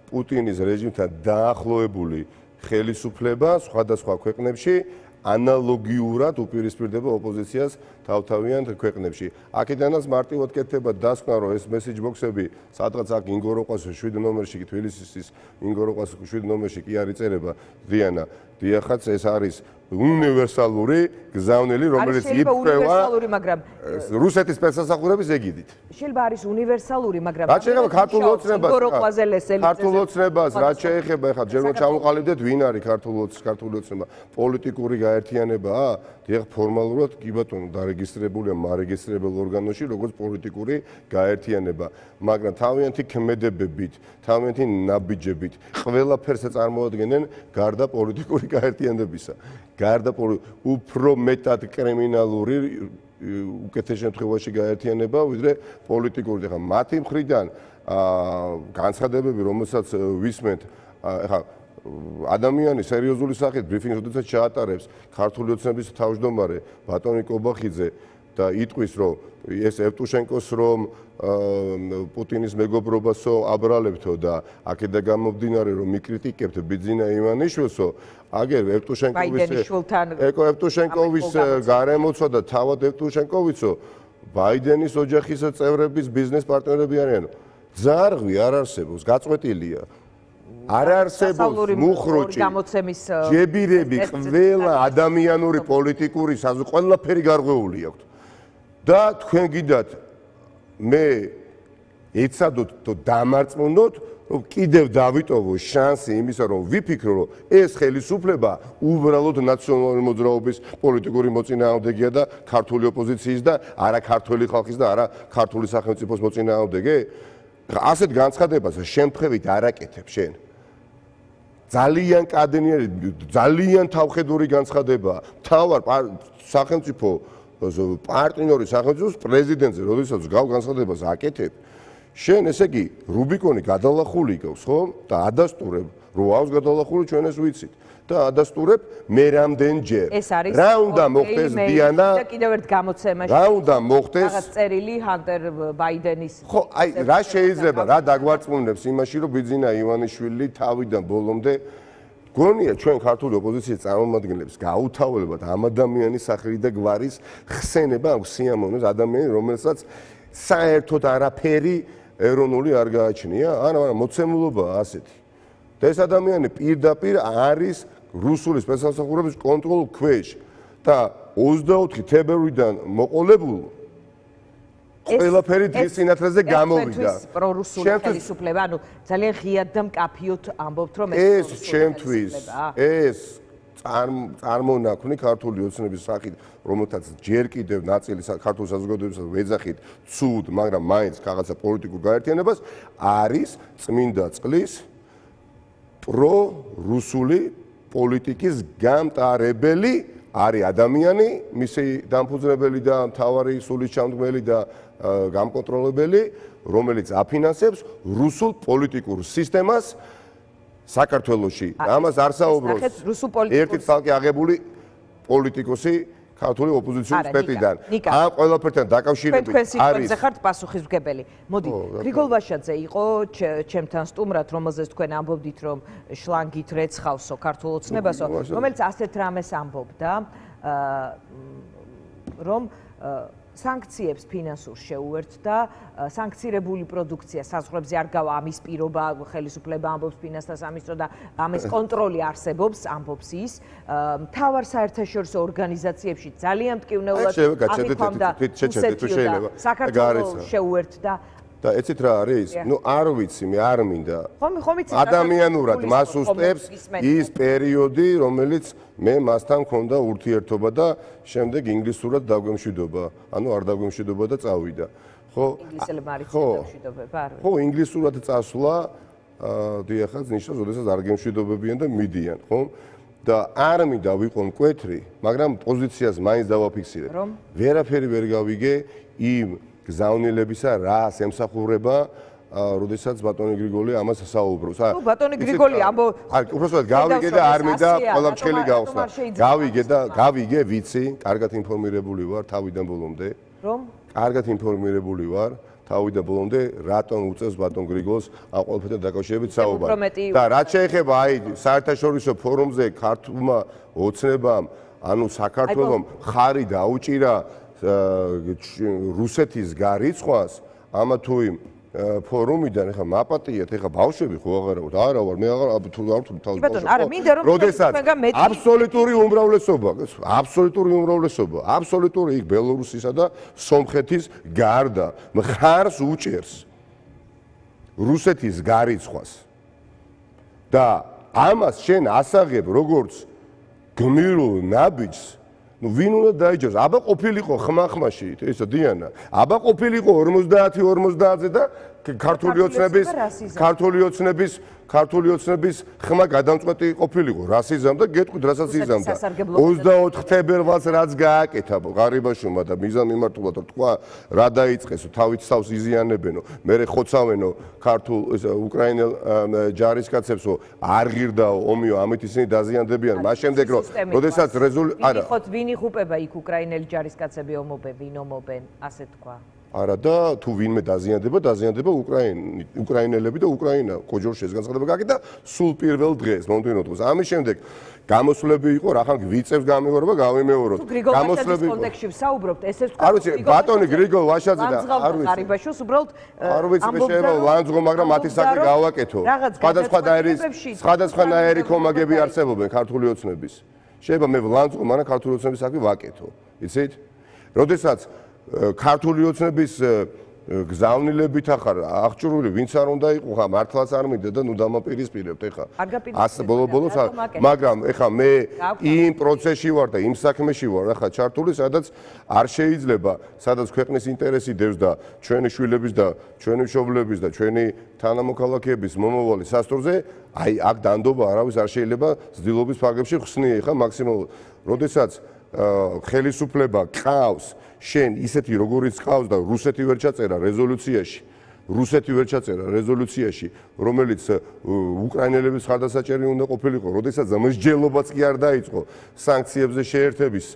პუტინის რეჟიმთან დაახლოებული ხელისუფლება სხვადასხვა ქვეყნებში ანალოგიურად უპირისპირდება ოპოზიციას თავთავიან ქვეყნებში. აქედანაც მარტივად კეთდება დასკვნა, რომ ეს მესეჯ ბოქსები სადღაც აქ ინგოროყვას 7 ნომერში, თბილისის ინგოროყვას 7 ნომერში კი არ იწერება დიანა. დიახაც ეს არის უნივერსალური გზავნილი, რომელიც იფრევა რუსეთის სპეცსახურების ეგიდით. შეიძლება არის უნივერსალური, მაგრამ რაც შეეხება ქართულ ოცნებას, რაც შეეხება ახლა ჯერ რომ ჩამოყალიბდეთ, ვინ არის ქართული ოცნება? პოლიტიკური გაერთიანებაა? დიახ, ფორმალურად კი ბატონო, დარეგისტრირებულია მარეგისტრირებულ ორგანოში, როგორც პოლიტიკური გაერთიანება, მაგრამ თავიანთი ქმედებებით, თავიანთი ნაბიჯებით ყველაფერს წარმოადგენენ გარდა პოლიტიკური გაერთიანებისა. გარდა უფრო მეტად კრიმინალური უკეთეს შემთხვევაში გაერთიანება, ვიდრე პოლიტიკური. ახლა მათი მხრიდან განცხადებები, რომელსაც ვისმენთ, ახლა ადამიანი სერიოზული სახით ბრიფინგს როდესაც ჩაატარებს ქართული ოცნების თავმჯდომარე ბატონი კობახიძე და იტყვის, რომ ეს ევტუშენკოს რომ პუტინის მეგობრობასო აბრალებთო და აქედა გამომდინარე რომ მიკრიტიკებთ ბიძინა ივანიშვილსო, აგერ ევტუშენკოვის გარემოცვა და თავად ევტუშენკოვიცო ბაიდენის ოჯახის წევრების ბიზნეს პარტნიორები არიან. ძარღვი არ არსებობს, გაწყვეტილია. არ არსებობს მუხრუჭი, ჯებირები, ყველა ადამიანური პოლიტიკური ყველაფერი გარღვეული აქვთ. და თქვენ გიდათ მე ეცადოთ და დამარწმუნოთ, რომ კიდევ დავიტოვო შანსი იმისა, რომ ვიფიქრო, რომ ეს ხელისუფლება უბრალოდ ნაციონალური მოძრაობის პოლიტიკური მოწინააღმდეგეა და ქართული ოპოზიციის და არა ქართული ხალხის და არა ქართული სახელმწიფოს მოწინააღმდეგე. ასეთ განცხადებას შემთხვევით არ აკეთებ შენ. ძალიან კადენიერი, ძალიან თავხედური განცხადებაა. თავარ სახელმწიფო პარტნიორი სახელმწიფოს პრეზიდენტზე, როდესაც გავ განცხადებას აკეთებ, შენ ესე იგი რუბიკონი გადალახული გავს, ხო? და ადასტურებ, რო აქვს გადალახული, ჩვენ ეს ვიცით. და ადასტურებ მე რამდენჯერ. რა უნდა მოხდეს დიანა? და კიდევ ერთ გამოცემაში. რა უნდა მოხდეს? რაღაც წერილი ჰანტერ ბაიდენის. ხო, აი რა შეიძლება, რა დაგვარწმუნებს იმაში, რომ ბიძინა ივანიშვილი თავიდან ბოლომდე გონია ჩვენ ქართული ოპოზიციის წარმომადგენლებს გაუთავებად ამ ადამიანის სახელი და გვარის ხსენება აქვს სიამოვნებს ადამიანი, რომელსაც საერთოდ არაფერი ეროვნული არ გააჩნია, არა, მოცემულობაა ასეთი. და ეს ადამიანი პირდაპირ არის რუსული სპეცსახურების კონტროლის ქვეშ და 24 თებერვლიდან მოყოლებულ ყველაფერი დღის სინათლეზე გამოვიდა. პრორუსული ხელისუფლება, ანუ ძალიან ღიად და მკაფიოდ ამბობთ, რომ ეს ჩემთვის ეს წარმონაქმნი ქართული ოცნების სახით, რომელთაც ჯერ კიდევ ნაწილი ქართული საზოგადოებისა ვეძახით ცუდ, მაგრამ მაინც რაღაცა პოლიტიკურ გაერთიანებას არის წმინდა წყლის პრო-რუსული პოლიტიკის გამტარებელი არის ადამიანი, მისი დამფუძნებელი და მთავარი სულისჩამდგმელი და გამკონტროლებელი, რომელიც აფინანსებს რუსულ პოლიტიკურ სისტემას საქართველოში ამას არ საუბრობს ერთი ცალკე აღებული პოლიტიკოსი ქართული ოპოზიციის სპექტიდან. ამ ყველაფერთან დაკავშირებით არის ხართ პასუხისმგებელი. მოდი, გრიგოლ ვაშაძე იყო ჩემთან სტუმრად, რომელზეც თქვენ ამბობდით, რომ შლანგით რეცხავსო ქართულ ოცნებასო, რომელიც ასეთ რამეს ამბობდა, რომ სანქციებს ფინანსურ შეუერთდა, სანქცირებული პროდუქცია საზღვრებზე არ გავა, ამის პირობა ხელისუფლება ამბობს ფინანსთა სამინისტრო და ამის კონტროლი არსებობს, ამბობს ის. მთავარ საერთაშორისო ორგანიზაციებში ძალიან მტკივნეულად აღიქვამდა საქართველოს შეუერთდა. და ეცით რა არის? ნუ არ ვიცი, მე არ მინდა. ადამიანურად მას უსწრებს ის პერიოდი, რომელიც მე მასთან მქონდა ურთიერთობა და შემდეგ ინგლისურად დაგვემშვიდობა. ანუ არ დაგვემშვიდობა და წავიდა. ხო? ინგლისელებმა არ იცოდნენ არ ხო, ინგლისურად წასვლა, დიახაც ნიშნავს, როდესაც არ გემშვიდობებიან და მიდიან, ხო? და არ მინდა ვიყო მკვეთრი, მაგრამ პოზიციას მაინც დავაფიქსირებ. ვერაფერი ვერ გავიგე იმ გზავნილებისა რას ემსახურება, როდესაც ბატონი გრიგოლი ამას საუბრობს. ნუ ბატონი გრიგოლი უბრალოდ გავიგე და არ მინდა ყველაფრჩელი გავხსნა. გავიგე, ვიცი, კარგად ინფორმირებული ვარ თავიდან ბოლომდე. რომ? კარგად ინფორმირებული ვარ თავიდან ბოლომდე, რატომ უწევს ბატონ გრიგოლს ამ ყველაფერთან დაკავშირებით საუბარი. და რაც შეეხება აი საერთაშორისო ფორუმზე ქართულმა ოცნებამ, ანუ საქართველომ ხარი დაუჭირა რუსეთის გარიცხვას ამა თუ იმ ფორუმიდან ეხა მაპატიეთ ეხა ბავშვები ხო აღარავთ არა ვარ მე აღარ თუ არ თუ თავს ბავშვები როდესაც აბსოლუტური უმრავლესობა აბსოლუტური იქ ბელორუსისა და სომხეთის გარდა მხარს უჭერს რუსეთის გარიცხვას და ამას შენ ასაღებ როგორც გმირულ ნაბიჯს ну ვინ უნდა დაიჯეროს? აბა ყოფილიყო ხმახმაში, ესა დიანა. აბა ყოფილიყო 50-50-ზე და ქართული ოცნების ხმა გადამწყვეტი ყოფილიყო რასიზმ და გეტყვით რასაც იზამდა. 24 თებერვალს რაც გააკეთა ღარიბაშვილმა და მიზან მიმართულად თქვა რა დაიწყესო, თავით თავს იზიანებენო, მერე ხოცავენო ქართულ უკრაინელ ჯარისკაცებსო, არ ღირდაო ომიო, ამით ისინი დაზიანდებიან. მას შემდეგ რომ როდესაც არა ვინ იხუპება იქ უკრაინელი ჯარისკაცები ომობენ, ვინ ომობენ, ასე თქვა. არა და თუ ვინმე დაზიანდება უკრაინელები და უკრაინა კოჯორში ეს განცხადება გააკეთა სულ პირველ დღეს მომდევნო დღეს ამის შემდეგ გამოსვლები იყო რახან გვიწევს გამეორება გავიმეოროთ გამოსვლების კონტექსტში ვსაუბრობთ ესე ვთქვა არ ვიცი ბატონი გრიგოლ ვაშაძე და არ ვიცი გარიბაშოს უბრალოდ არ ვიცი მე შეიძლება ლანძღო მაგრამ მათი საკი გავაკეთო სხვადასხვანაირი კომაგები არსებობენ ქართული ოცნების შეიძლება მე ლანძღო მაგრამ ქართული ოცნების საკი ვაკეთო იცით როდესაც ქართული ოცნების გზავნილებით ახარ აღჭურვილი ვინც არ უნდა იყო ხა მართლაც არ მინდა და ნუ დამაპირისპირებთ ეხა ასე ბოლოს მაგრამ ეხა მე იმ პროცესში ვარ და იმ საქმეში ვარ ახლა ჩართული სადაც არ შეიძლება სადაც ქვეყნის ინტერესი დევს და ჩვენი შვილების და ჩვენი მშობლების და ჩვენი თანამოქალაქეების მომავალი სასწორზე აი აქ დანდობა არავის არ შეიძლება ზდილობის ფარგლებში ხსნი ეხა მაქსიმალურად როდესაც ხელისუფლება ყავს შენ ისეთი როგორიც ყავს და რუსეთი ვერ ჩაწერა რეზოლუციაში რომელიც უკრაინელების ხარდასაჭერი უნდა ყოფილიყო როდესაც მსჯელობაც კი არ დაიწყო სანქციებზე შეერთების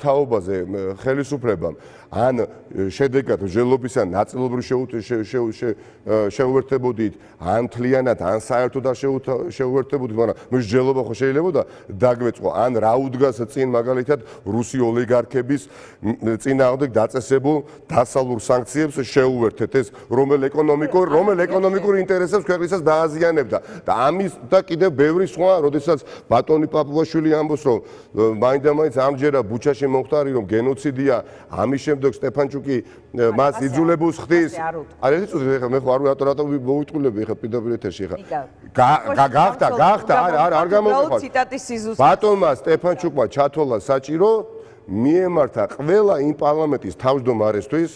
თაობაზე ხელისუფლებამ ან შედეგად მსჯელობისა ნაწილობრივ შეუერთებოდით ან მთლიანად ან საერთოდ არ შეუერთებოდით მაგრამ მსჯელობა ხო შეიძლება დაგვეწყო ან რა უდგას წინ მაგალითად რუსი ოლიგარქების წინააღმდეგ დაწესებულ დასალურ სანქციებს შეუერთეთ ეს რომელ ეკონომიკურ ინტერესებს ქვეყნისას დააზიანებდა და ამის და კიდევ ბევრი სხვა როდესაც ბატონი პაპუაშვილი ამბობს რომ მაინდა-მაინც ამჯერა ბუჩაში მომხდარი რომ გენოციდია ამის შემდეგ სტეფანჩუკი მას იძულებულს ხდის არ იცოდი ხა მე ხო რატო მოვიტყულები ხა პირდაპირ ეთერში ხა გახდა არ გამოვიყვა ბატონმა სტეფანჩუკმა ჩათვალა საჭირო მიემართა ყველა იმ პარლამენტის თავმჯდომარესთვის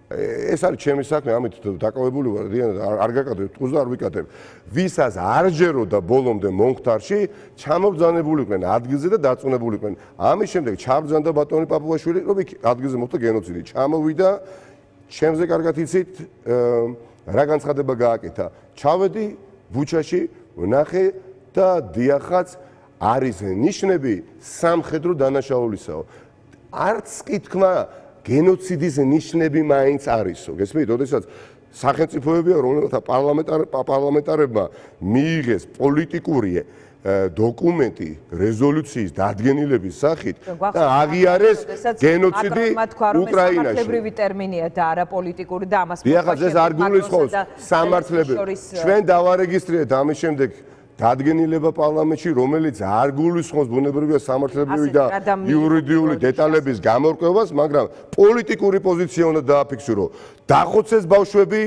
ეს არის ჩემი საქმე ამით დაკავებული ვარ არ გაკადებ ტყუს და არ ვიკადებ ვისაც არ ჯეროდა ბოლომდე მომხდარში ჩამობძანებულიყვნენ ადგილზე და დაწუნებულიყვნენ ამის შემდეგ ჩაბძანდა ბატონი პაპუაშვილი რომ იქ ადგილზე მოხდა გენოციდი ჩამოვიდა ჩემზე კარგად იცით რა განცხადება გააკეთა ჩავედი ბუჩაში ვნახე და დიახაც არის ნიშნები სამხედრო დანაშაულისაო. არც კი თქვა გენოციდის ნიშნები მაინც არისო. გესმით, როდესაც სახელმწიფოებია, რომელთა პარლამენტარებმა მიიღეს პოლიტიკური დოკუმენტი რეზოლუციის დადგენილების სახით და აღიარეს გენოციდი უკრაინაში. სამართლებრივი ტერმინია და არა პოლიტიკური და ამას მოხდა. ეს არ გულისხმობს სამართლებრივ. ჩვენ დავარეგისტრირეთ ამის შემდეგ დადგენილება პარლამენტში, რომელიც არ გულისხმობს ბუნებრივია სამართლებრივი და იურიდიული დეტალების გამორკვევას, მაგრამ პოლიტიკური პოზიცია უნდა დააფიქსირო. დახოცეს ბავშვები,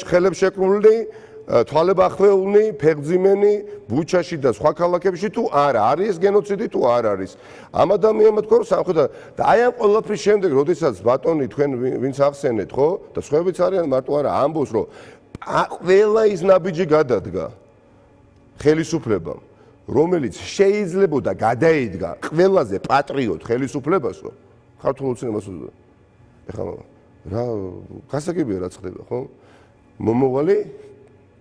ხელებს შეკრულნი, თვალებ ახვეულნი, ფეხმძიმენი ბუჩაში და სხვა ქალაქებში თუ არა, არის გენოციდი თუ არ არის. ამ ადამიანმა თქვა რომ სამხედრო და აი ამ ყველაფრის შემდეგ, როდესაც ბატონი თქვენ ვინც ახსენეთ, ხო? და სხვაებიც არიან, მარტო არა, ამბობს რომ ყველა ის ნაბიჯი გადადგა ხელისუფლებამ, რომელიც შეიძლებოდა გადაედგა ყველაზე პატრიოტ ხელისუფლებასო, ქართულ ოცნებას უდო. ეხლა რა გასაგებია რა ხდება, ხო? მომავალი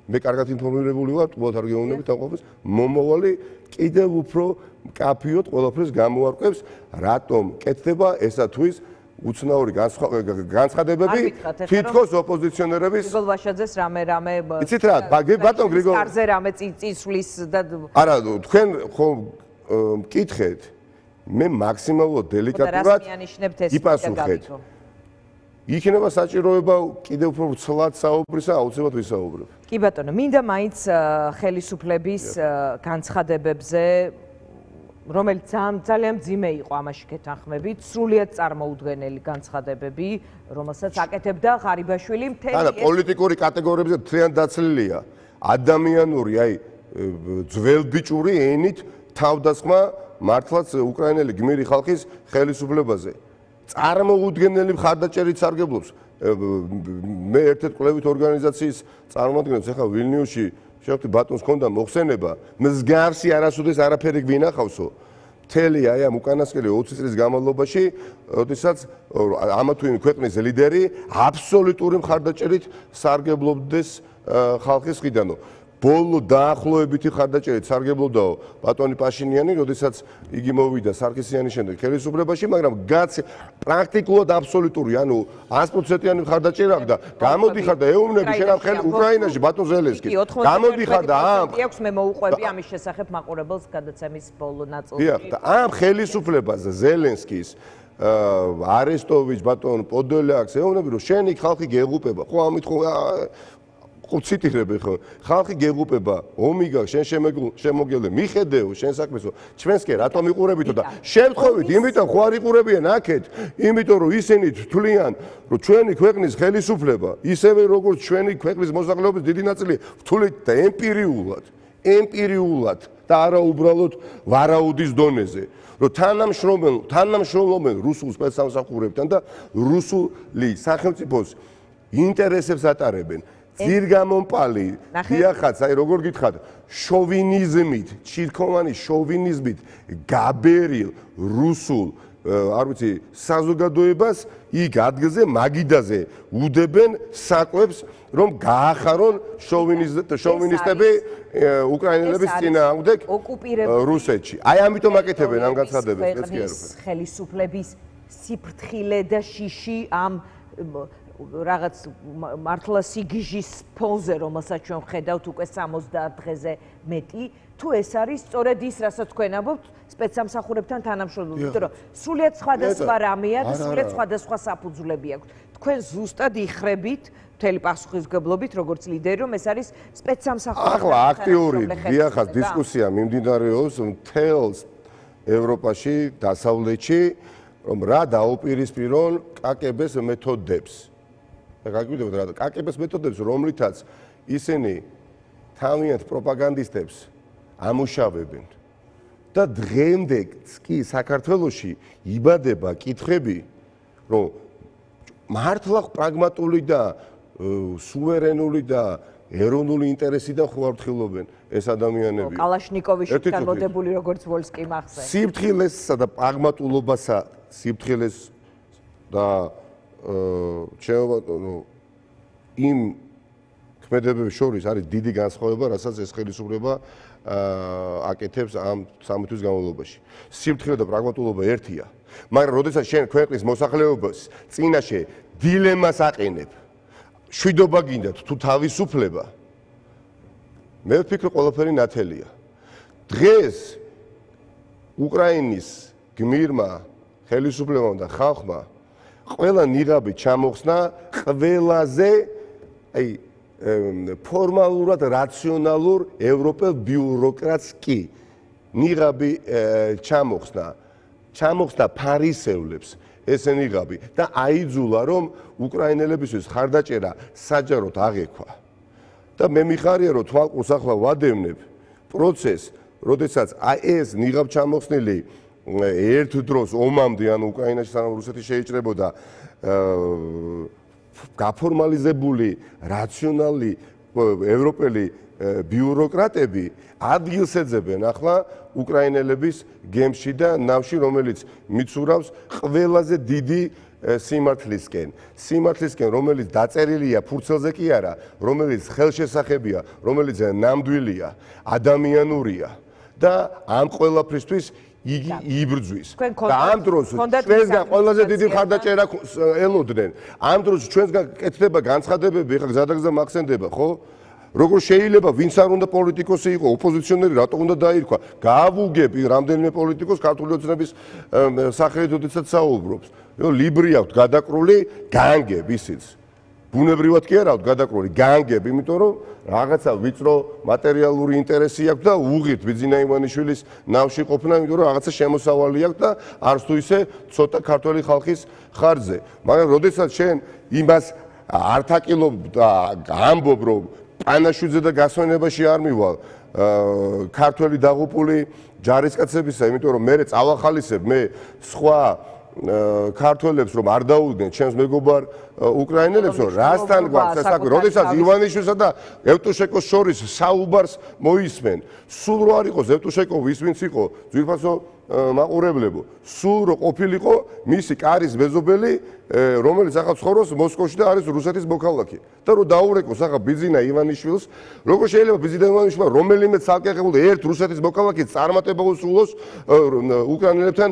მე კარგად ინფორმირებული ვარ, თუათ არ გეუბნებით ამ ყოფას, მომავალი კიდევ უფრო კაფიოთ ყველაფერს გამოარკვევს, რატომ კეთდება ესა თუ ის უცნაური განცხადებები თითქოს ოპოზიციონერების გრიგოლ ვაშაძეს რამე იცით რა ბატონ გრიგოლ კარზე რამე წისვლის და არა თქვენ ხო მკითხეთ მე მაქსიმალურად დელიკატურად იპასუხეთ იქნება საჭიროება კიდევ უფრო ცლად საუბრისა აუცილებლად ვისაუბრებ კი ბატონო მინდა მაინც ხელისუფლების განცხადებებზე რომელიც ძალიან მძიმე იყო ამაში გეთანხმებით, სრულიად წარმოუდგენელი განცხადებები, რომელსაც აკეთებდა ღარიბაშვილი მთელი ეს. არა, პოლიტიკური კატეგორიებზე მთლიან დაცლილია. ადამიანური, აი, ძველბიჭური ენით თავდასხმა მართლაც უკრაინელი გმირი ხალხის ხელისუფლებაზე. წარმოუდგენელი მხარდაჭერით სარგებლობს. მე ერთ-ერთ კვლევით ორგანიზაციის წარმომადგენლებს ახლა ვილნიუსში შევხვდი ბატონს ჰქონდა მოხსენება მსგავსი არასოდეს არაფერი გვინახავსო მთელი აი ამ უკანასკნელი 20 წლის განმავლობაში როდესაც ამა თუ იმ ქვეყნის ლიდერი აბსოლუტური მხარდაჭერით სარგებლობდეს ხალხის მხრიდანო ბოლო დაახლოებითი მხარდაჭერით სარგებლობდაო ბატონი პაშინიანი როდესაც იგი მოვიდა სარქისიანის შემდეგ ხელისუფლებაში მაგრამ პრაქტიკულად აბსოლუტური ანუ 100%-იანი მხარდაჭერა აქვს და გამოდიხარ და ეუბნები შენ ამ უკრაინაში ბატონ ზელენსკი გამოდიხარ და ამ აქვს მე მოუყვები ამის შესახებ მაყურებელს გადაცემის ბოლო ნაწილში დიახ და ამ ხელისუფლებას ზელენსკის არესტოვიჩ ბატონ პოდოლიაკს ეუბნები რომ შენი ხალხი გეღუპება ხო ამით ხო ციტირები ხო ხალხი გეღუპება ომი გაქვს შენ შემოგელე მიხედეო შენ საქმესო ჩვენს კი რატომ იყურებითო და შემთხვევით იმიტომ ხო არ იყურებიან აქეთ იმიტომ რომ ისინი თვლიან რომ ჩვენი ქვეყნის ხელისუფლება ისევე როგორც ჩვენი ქვეყნის მოსახლეობის დიდი ნაწილი თვლით და ემპირიულად და არა უბრალოდ ვარაუდის დონეზე რომ თანამშრომლობენ რუსულ სპეცსამსახურებთან და რუსული სახელმწიფოს ინტერესებს ატარებენ ძირგამომპალი დიახაც აი როგორ გითხათ შოვინიზმით ჩირქოვანი შოვინიზმით გაბერილ რუსულ არ ვიცი საზოგადოებას იქ ადგილზე მაგიდაზე უდებენ საკვებს რომ გაახარონ შოვინისტები უკრაინელების წინააღმდეგ რუსეთში აი ამიტომ აკეთებენ ამ განცხადებებს ეს კი არ ვფიქრობ ხელისუფლების სიფრთხილე და შიში ამ რაღაც მართლა სიგიჟის ფონზე რომელსაც ჩვენ ხედავთ უკვე 70 დღეზე მეტი თუ ეს არის სწორედ ის რასაც თქვენ ამბობთ სპეცსამსახურებთან თანამშრომლობა იმიტომ რომ სრულიად სხვადასხვა რამეა და სრულიად სხვადასხვა საფუძვლები აქვს თქვენ ზუსტად იხრებით მთელი პასუხისმგებლობით როგორც ლიდერი რომ ეს არის სპეცსამსახურებთან ახლა აქტიური დიახაც დისკუსია მიმდინარეობს მთელ ევროპაში დასავლეთში რომ რა დაუპირისპირონ კაკბ-ს მეთოდებს გაგვიდებთ რა კაკბ-ს მეთოდებს რომლითაც ისინი თავიანთ პროპაგანდისტებს ამუშავებენ და დღემდე კი საქართველოში იბადება კითხვები რომ მართლა პრაგმატული და სუვერენული და ეროვნული ინტერესიდან ხوارთხილობენ ეს ადამიანები კალაშნიკოვის განმოდებული როგორც ვოლსკი მახსენს სიფრთხილესსა და პრაგმატულობასა სიფრთხილეს და იმ მოქმედებების შორის არის დიდი განსხვავება, რასაც ეს ხელისუფლება აკეთებს ამ 13 თვის განმავლობაში. Სიმართლე და პრაგმატულობა ერთია, მაგრამ როდესაც შენ ქვეყნის მოსახლეობას წინაშე დილემას აყენებ, შვიდობა გინდათ თუ თავისუფლება, მე ვფიქრობ ყველაფერი ნათელია. დღეს უკრაინის გმირმა ხელისუფლებამ და ხალხმა ყველა ნიღაბი ჩამოხსნა ყველაზე ფორმალურად რაციონალურ ევროპელ ბიუროკრატს კი ნიღაბი ჩამოხსნა ფარისევლებს ეს ნიღაბი და აიძულა რომ უკრაინელებისთვის ხარდაჭერა საჯაროდ აღექვა და მე მიხარია რომ თვალყურს ახლა ვადევნებ პროცესს როდესაც ეს ნიღაბ ჩამოხსნილი ერთ დროს ომამდე ან უკრაინაში სანამ რუსეთი შეიჭრებოდა გაფორმალიზებული რაციონალი ევროპელი ბიუროკრატები ადგილს ეძებენ ახლა უკრაინელების გემში და ნავში რომელიც მიცურავს ყველაზე დიდი სიმართლისკენ რომელიც დაწერილია ფურცელზე კი არა რომელიც ხელშესახებია რომელიც ნამდვილია ადამიანურია და ამ ყველაფრისთვის იგი იბრძვის და ამ დროს ჩვენგან ყველაზე დიდი ხარდაჭერა ელოდნენ ამ დროს ჩვენგან კეთდება განცხადებები ეხლა გზადაგზა მახსენდება ხო როგორ შეიძლება ვინც არ უნდა პოლიტიკოსი იყო ოპოზიციონერი რატო უნდა დაირქვა გაავუგები რამდენიმე პოლიტიკოს ქართული ოცნების სახელით როდესაც საუბრობს ლიბრი აქვს გადაკრული განგებ ისიც ბუნებრივად კი არა აქვს გადაკრული განგებ იმიტომ რომ რაღაცა ვიწრო მატერიალური ინტერესი აქვს და უღირთ ბიძინა ივანიშვილის ნავში ყოფნა იმიტომ რომ რაღაცა შემოსავალი აქვს და არც თუ ისე ცოტა ქართველი ხალხის ხარჯზე მაგრამ როდესაც შენ იმას ართაკილობ და ამბობ რომ პანაშვიძე და გასვენებაში არ მივალ ქართველი დაღუპული ჯარისკაცებისა იმიტომ რომ მე წავახალისებ მე სხვა ქართველებს რომ არ დაუდგნენ ჩემს მეგობარ უკრაინელებს რომ რასთან გვაქვს საქმე როდესაც ივანიშვილსა და ევტუშენკოს შორის საუბარს მოისმენ სულ რო არ იყოს ევტუშენკოვი ის ვინც იყო ძვირფასო მაყურებლებო სულ რო ყოფილიყო მისი კარის მეზობელი რომელიც ახლა ცხოვრობს მოსკოვში და არის რუსეთის მოქალაქე და რო დაურეკოს ახლა ბიძინა ივანიშვილს როგორ შეიძლება ბიძინა ივანიშვილმა რომელიმე ცალკეღებული ერთ რუსეთის მოქალაქეს წარმატება უსულოს უკრაინელებთან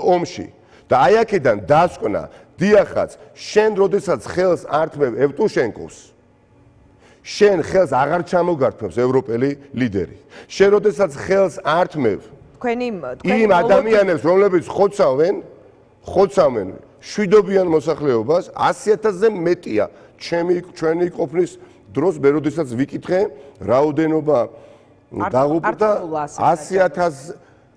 ომში და აი აქედან დასკვნა დიახაც შენ როდესაც ხელს ართმევ ევტუშენკოს შენ ხელს აღარ ჩამოგართმევს ევროპელი ლიდერი შენ როდესაც ხელს ართმევ იმ ადამიანებს რომლებიც ხოცავენ შვიდობიან მოსახლეობას 100,000-ზე მეტია ჩვენი ყოფნის დროს მე როდესაც ვიკითხე რაოდენობა დაღუპულთა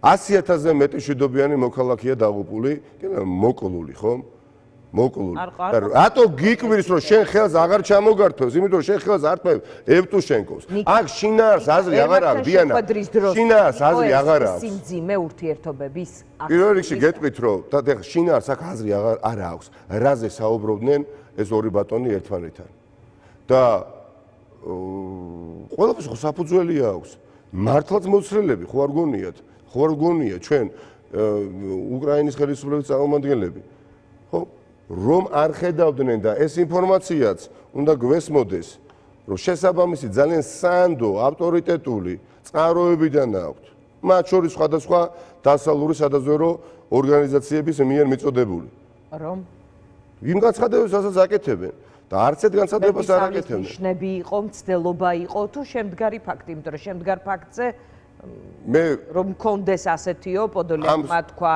100,000-ზე მეტი შვიდობიანი მოქალაქეა დაღუპული მოკლული ხო მოკლული რატო გიკვირს რომ შენ ხელს აღარ ჩამოგართმევს იმიტომ რომ შენ ხელს ართმევ ევტუშენკოს აქ შინაარს აზრი აღარ აქვს დიანა შინაარს აზრი აღარ აქვს სიმძიმე ურთიერთობების პირველ რიგში გეტყვით რომ და შინაარს აქ აზრი არ აქვს რაზე საუბრობდნენ ეს ორი ბატონი ერთმანეთთან და ყველაფერს ხო საფუძველი აქვს მართლაც მოცლელები ხო არ გონია ჩვენ უკრაინის ხელისუფლების წარმომადგენლები ხო რომ არ ხედავდნენ და ეს ინფორმაციაც უნდა გვესმოდეს რომ შესაბამისი ძალიან სანდო ავტორიტეტული წყაროებიდან აქვთ მათ შორის სხვადასხვა დასავლური სადაზვერვო ორგანიზაციების მიერ მიწოდებული რომ იმ განცხადებებს რასაც აკეთებენ და არც ერთ განცხადებას არ აკეთებდნენ ნიშნები იყო მცდელობა იყო თუ შემდგარი ფაქტი იმიტომ რომ შემდგარ ფაქტზე მე რომ მქონდეს ასეთიო პოდოლიაკმა თქვა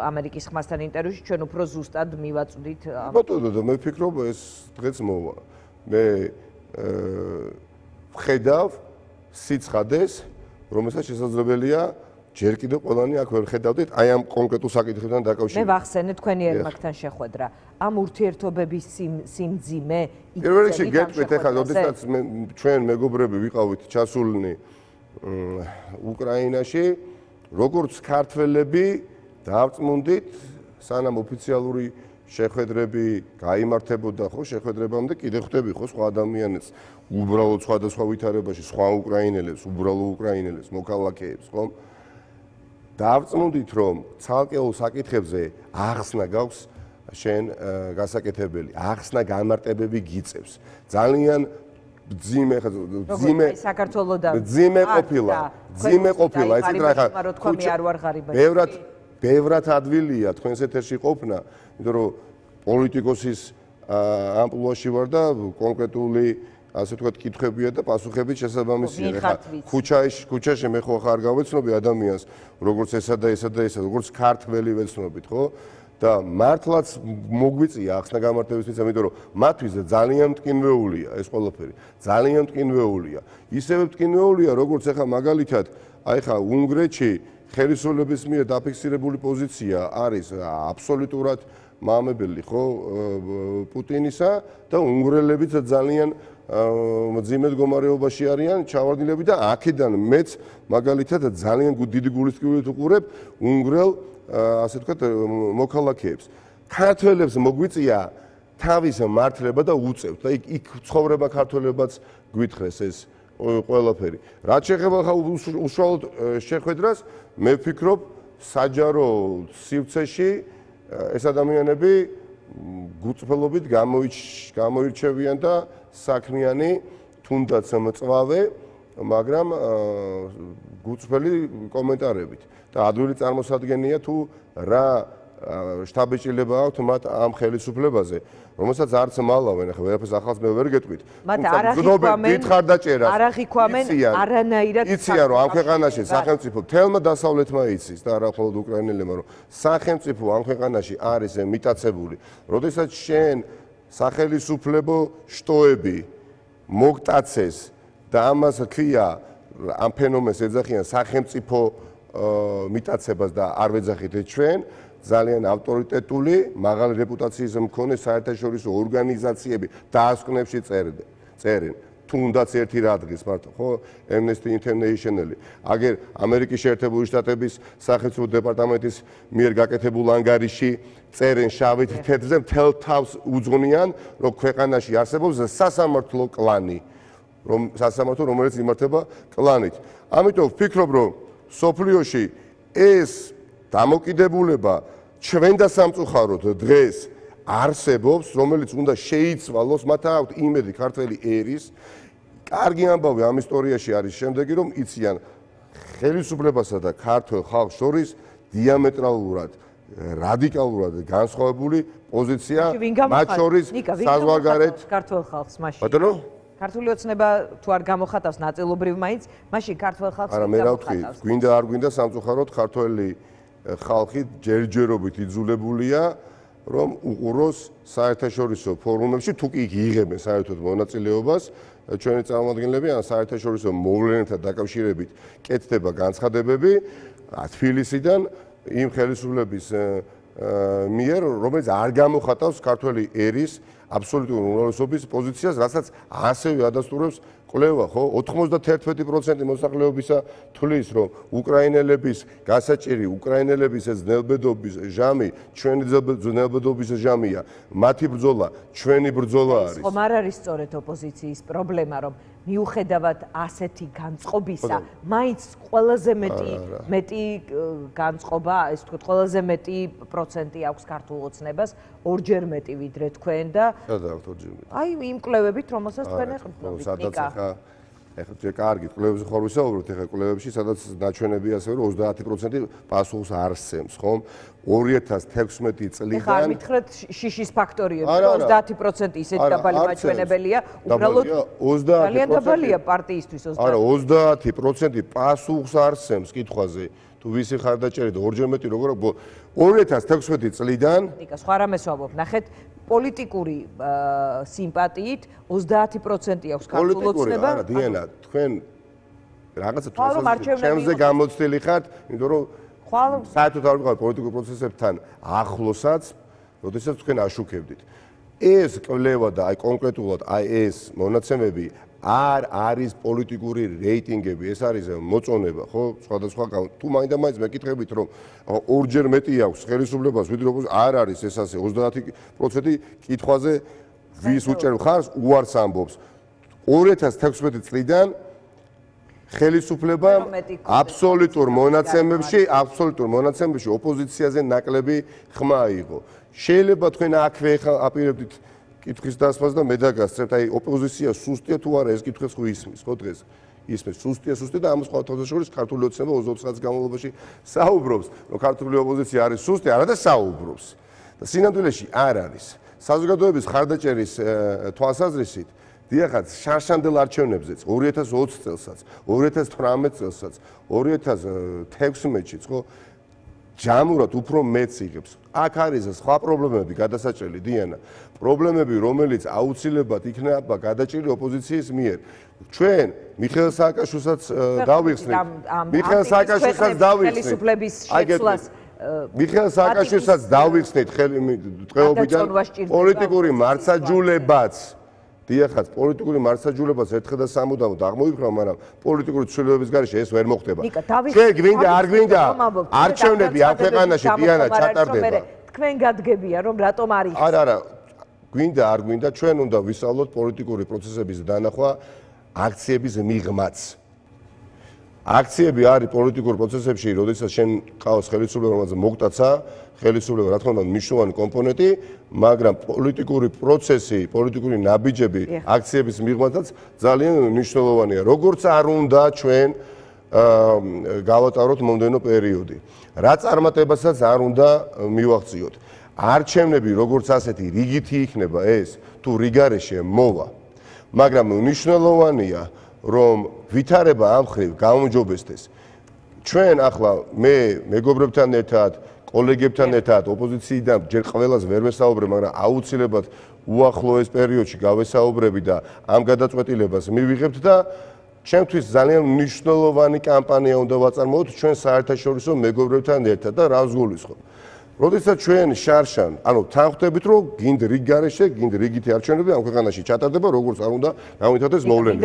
ამერიკის ხმასთან ინტერვიუში ჩვენ უფრო ზუსტად მივაწვდით ბატონო მე ვფიქრობ ეს დღეც მოვა მე ვხედავ სიცხადეს რომელსაც შესაძლებელია ჯერ კიდევ ყველანი აქ ვერ ხედავდით აი ამ კონკრეტულ საკითხებთან დაკავშირებით მე ვახსენე თქვენი ერმაკთან შეხვედრა ამ ურთიერთობების სიმძიმე პირველ რიგში გეტყვით ეხლა როდესაც ჩვენ მეგობრები ვიყავით ჩასულნი უკრაინაში როგორც ქართველები დავწმუნდით სანამ ოფიციალური შეხვედრები გაიმართებოდა ხო შეხვედრებამდე კიდე ხვდები ხო სხვა ადამიანებს უბრალოდ სხვადასხვა ვითარებაში სხვა უკრაინელებს უბრალო უკრაინელებს მოქალაქეებს ხო დავწმუნდით რომ ცალკეულ საკითხებზე ახსნა გაქვს შენ გასაკეთებელი ახსნა გამარტებები გიწევს ძალიან ყოფილა, ისეთ რა ხა ბევრად ადვილია თქვენს ეთერში ყოფნა, იმიტომ რომ პოლიტიკოსის ამპლუაში ვარ და კონკრეტული ასე ვთქვათ კითხვებია და პასუხები შესაბამისია. ხა ქუჩაში მე ხო ხარ გავეცნობი ადამიანს, როგორც ესა და ესა და ესა, როგორც ქართველი ვეცნობით, ხო? და მართლაც მოგვიწია ახსნა გამართებისთვის, იმიტომ რომ მათთვის ძალიან მტკინვეულია ეს ყველაფერი. ძალიან მტკინვეულია. ისევე მტკინვეულია, როგორც ახლა მაგალითად, აი ხა უნგრეთში ხელისუფლების მიერ დაფიქსირებული პოზიცია არის აბსოლუტურად მამებელი, ხო, პუტინისა და უნგრელებიც ძალიან მძიმე მდგომარეობაში არიან, ჩავარდნილები და აქედან მეც მაგალითად ძალიან დიდი გულისწყრობით უყურებ უნგრელ ასე ვთქვათ მოქალაქეებს. ქართველებს მოგვიწია თავის მართლება და უწევთ და იქ ცხოვრება ქართველებაც გვითხრეს ეს ყველაფერი. რაც შეეხება ხა უშუალოდ შეხვედრას, მე ვფიქრობ საჯარო სივრცეში ეს ადამიანები გუწფელობით გამოირჩევიან და საქმიანი, თუნდაც მწვავე, მაგრამ გუწფელი კომენტარებით. და ადვილი წარმოსადგენია თუ რა შტაბეჭილება აქვს მათ ამ ხელისუფლებაზე, რომელსაც არც მალავენ, ახლა ვერაფერს ახალს მე ვერ გეტყვით. მათ არ აღიქვამენ არანაირად. იციან რომ ამ ქვეყანაში სახელმწიფო თელმა დასავლეთმა იცის და არა მხოლოდ უკრაინელებმა, რომ სახელმწიფო ამ ქვეყანაში არის მიტაცებული. როდესაც შენ სახელისუფლებო შტოები მოგტაცეს და ამას ქვია ამ ფენომენს ეძახიან სახელმწიფო მიტაცებას და არ ვეძახით ჩვენ ძალიან ავტორიტეტული, მაღალი რეპუტაციის მქონე საერთაშორისო ორგანიზაციები დაასკვნებში წერენ. თუნდაც ერთი რადგის მარტო, ხო, Amnesty International-ი. აგერ ამერიკის შეერთებული შტატების სახელმწიფო დეპარტამენტის მიერ გაკეთებულ ანგარიში წერენ შავით თეთრზე მთელ თავს უძღვნიან, რომ ქვეყანაში არსებობს სასამართლო კლანი, რომელიც იმართება კლანით. ამიტომ ვფიქრობ, რომ სოფლიოში ეს დამოკიდებულება ჩვენ და სამწუხაროდ დღეს არსებობს, რომელიც უნდა შეიცვალოს, მათ აქვთ იმედი ქართველი ერის. კარგი ამბავი ამ ისტორიაში არის შემდეგი, რომ იციან ხელისუფლებასა და ქართველ ხალხს შორის დიამეტრალურად, რადიკალურად განსხვავებული პოზიცია, მათ შორის საზღვარგარეთ ქართველ ხალხს მაშინ. ბატონო? ქართული ოცნება თუ არ გამოხატავს ნაწილობრივ მაინც, მაშინ ქართველ ხალხს არა, მე რა ვთქვი, გვინდა არ გვინდა სამწუხაროდ ქართველი ხალხი ჯერჯერობით იძულებულია, რომ უყუროს საერთაშორისო ფორუმებში, თუ კი იღებენ საერთოდ მონაწილეობას, ჩვენი წარმომადგენლები ან საერთაშორისო მოვლენებთან დაკავშირებით კეთდება განცხადებები თბილისიდან იმ ხელისუფლების მიერ, რომელიც არ გამოხატავს ქართველი ერის აბსოლუტური უმრავლესობის პოზიციას, რასაც ასევე ადასტურებს კვლევა, ხო? 91% მოსახლეობისა თვლის, რომ უკრაინელების გასაჭირი, უკრაინელების ეს ძნელბედობის ჟამი, ჩვენი ძნელბედობის ჟამია. მათი ბრძოლა, ჩვენი ბრძოლა არის. ხომ არ არის სწორედ ოპოზიციის პრობლემა, რომ მიუხედავად ასეთი განწყობისა, მაინც ყველაზე მეტი განწყობა, ეს თქვით, ყველაზე მეტი პროცენტი აქვს ქართულ ოცნებას, ორჯერ მეტი ვიდრე თქვენ და სადაც ორჯერ მეტი. აი იმ კვლევებით, რომელსაც თქვენ ეხმარებით. სადაც ახლა ჯერ კარგი კვლევებზე ხარ ვისაუბროთ, ახლა კვლევებში სადაც დაჩვენები ასევე რომ 30% პასუხს არ სცემს, ხომ? 2016 წლიდან ახლა მითხრეთ შიშის ფაქტორიები, 30% ისეთი დაბალი მაჩვენებელია, უბრალოდ ძალიან დაბალია პარტიისთვის 30%. არა, 30% პასუხს არ სცემს კითხვაზე. თუ ვისი ხარ დაჭერეთ ორჯერ მეტი როგორ 2016 წლიდან ნიკა სხვა რამეს ვამბობ, ნახეთ პოლიტიკური სიმპათიით 30% აქვს ქართულ ოცნება. არა, დიანა, თქვენ რაღაცა ჩვენზე გამოცდილი ხართ, იმიტომ რომ საერთოდ არ ვიყავ პოლიტიკურ პროცესებთან ახლოსაც, როდესაც თქვენ აშუქებდით. ეს კვლევა და აი კონკრეტულად აი ეს მონაცემები არ არის პოლიტიკური რეიტინგები, ეს არის მოწონება, ხო, სხვადასხვა თუ მაინდა-მაინც მეკითხებით, რომ ორჯერ მეტი აქვს ხელისუფლებას, ვიდრე არ არის ეს ასე 30% კითხვაზე ვის უჭერ მხარს უარს ამბობს. 2016 წლიდან ხელისუფლებამ აბსოლუტურ მონაცემებში ოპოზიციაზე ნაკლები ხმა აიღო. შეიძლება თქვენ აქვე აპირებდით კითხვის დასმას და მე დაგასწრებთ, აი ოპოზიცია სუსტია თუ არა ეს კითხვის ხო ისმის, ხო დღეს? ისმის სუსტია და ამას ყოველთვის ქართული ოცნება 20 წელს განმავლობაში საუბრობს, რომ ქართული ოპოზიცია არის სუსტი, არა და საუბრობს. და სინამდვილეში არ არის. საზოგადოების ხარდაჭერის თვალსაზრისით დიახაც შარშანდელ არჩევნებზეც 2020 წელსაც, 2018 წელსაც, 2016-ში, ხო? ჯამურად უფრო მეც იღებს. აქ არის სხვა პრობლემები გადასაჭრელი დიანა. პრობლემები, რომელიც აუცილებლად იქნება გადაჭრილი ოპოზიციის მიერ. ჩვენ მიხეილ სააკაშვილსაც დავიხსნით. მიხეილ სააკაშვილსაც დავიხსნით. ხელისუფლების შეცვლას მიხეილ სააკაშვილსაც დავიხსნით დღეობიდან პოლიტიკური მარცხაჯულებაც. დიახაც, პოლიტიკური მარცხაჯულებაც ერთხელ და სამუდამოდ აღმოიფრა, მაგრამ პოლიტიკური ცვლილებების გარეშე ეს ვერ მოხდება. შენ გვინდა, არ გვინდა, არჩევნები ამ ქვეყანაში დიანა ჩატარდება. თქვენ გადგებია, რომ რატომ არის? არა, გვინდა, არ გვინდა, ჩვენ უნდა ვისწავლოთ პოლიტიკური პროცესების დანახვა აქციების მიღმაც. აქციები არის პოლიტიკურ პროცესებში, როდესაც შენ ყავს ხელისუფლება, რომელსაც მოგტაცა, ხელისუფლება რა თქმა უნდა მნიშვნელოვანი კომპონენტი, მაგრამ პოლიტიკური პროცესი, პოლიტიკური ნაბიჯები აქციების მიღმაცაც ძალიან მნიშვნელოვანია. როგორც არ უნდა ჩვენ გავატაროთ მომდევნო პერიოდი. რა წარმატებასაც არ უნდა მივაღწიოთ. არჩევნები როგორც ასეთი რიგითი იქნება ეს, თუ რიგარეშე მოვა. მაგრამ მნიშვნელოვანია რომ ვითარება ამ ხრივ გაუმჯობესდეს. ჩვენ ახლა მე მეგობრებთან ერთად, კოლეგებთან ერთად ოპოზიციიდან ჯერ ყველას ვერ ვესაუბრებ, მაგრამ აუცილებლად უახლოეს პერიოდში გავესაუბრები და ამ გადაწყვეტილებას მივიღებთ და ჩემთვის ძალიან მნიშვნელოვანი კამპანია უნდა ვაწარმოოთ ჩვენ საერთაშორისო მეგობრებთან ერთად და რას გულისხმობ. როდესაც ჩვენ შარშან, ანუ თანხმდებით რომ გინდ რიგ გარეშე, გინდ რიგითი არჩევნები ამ ქვეყანაში ჩატარდება, როგორც არ უნდა გამვითარდეს მოვლენები.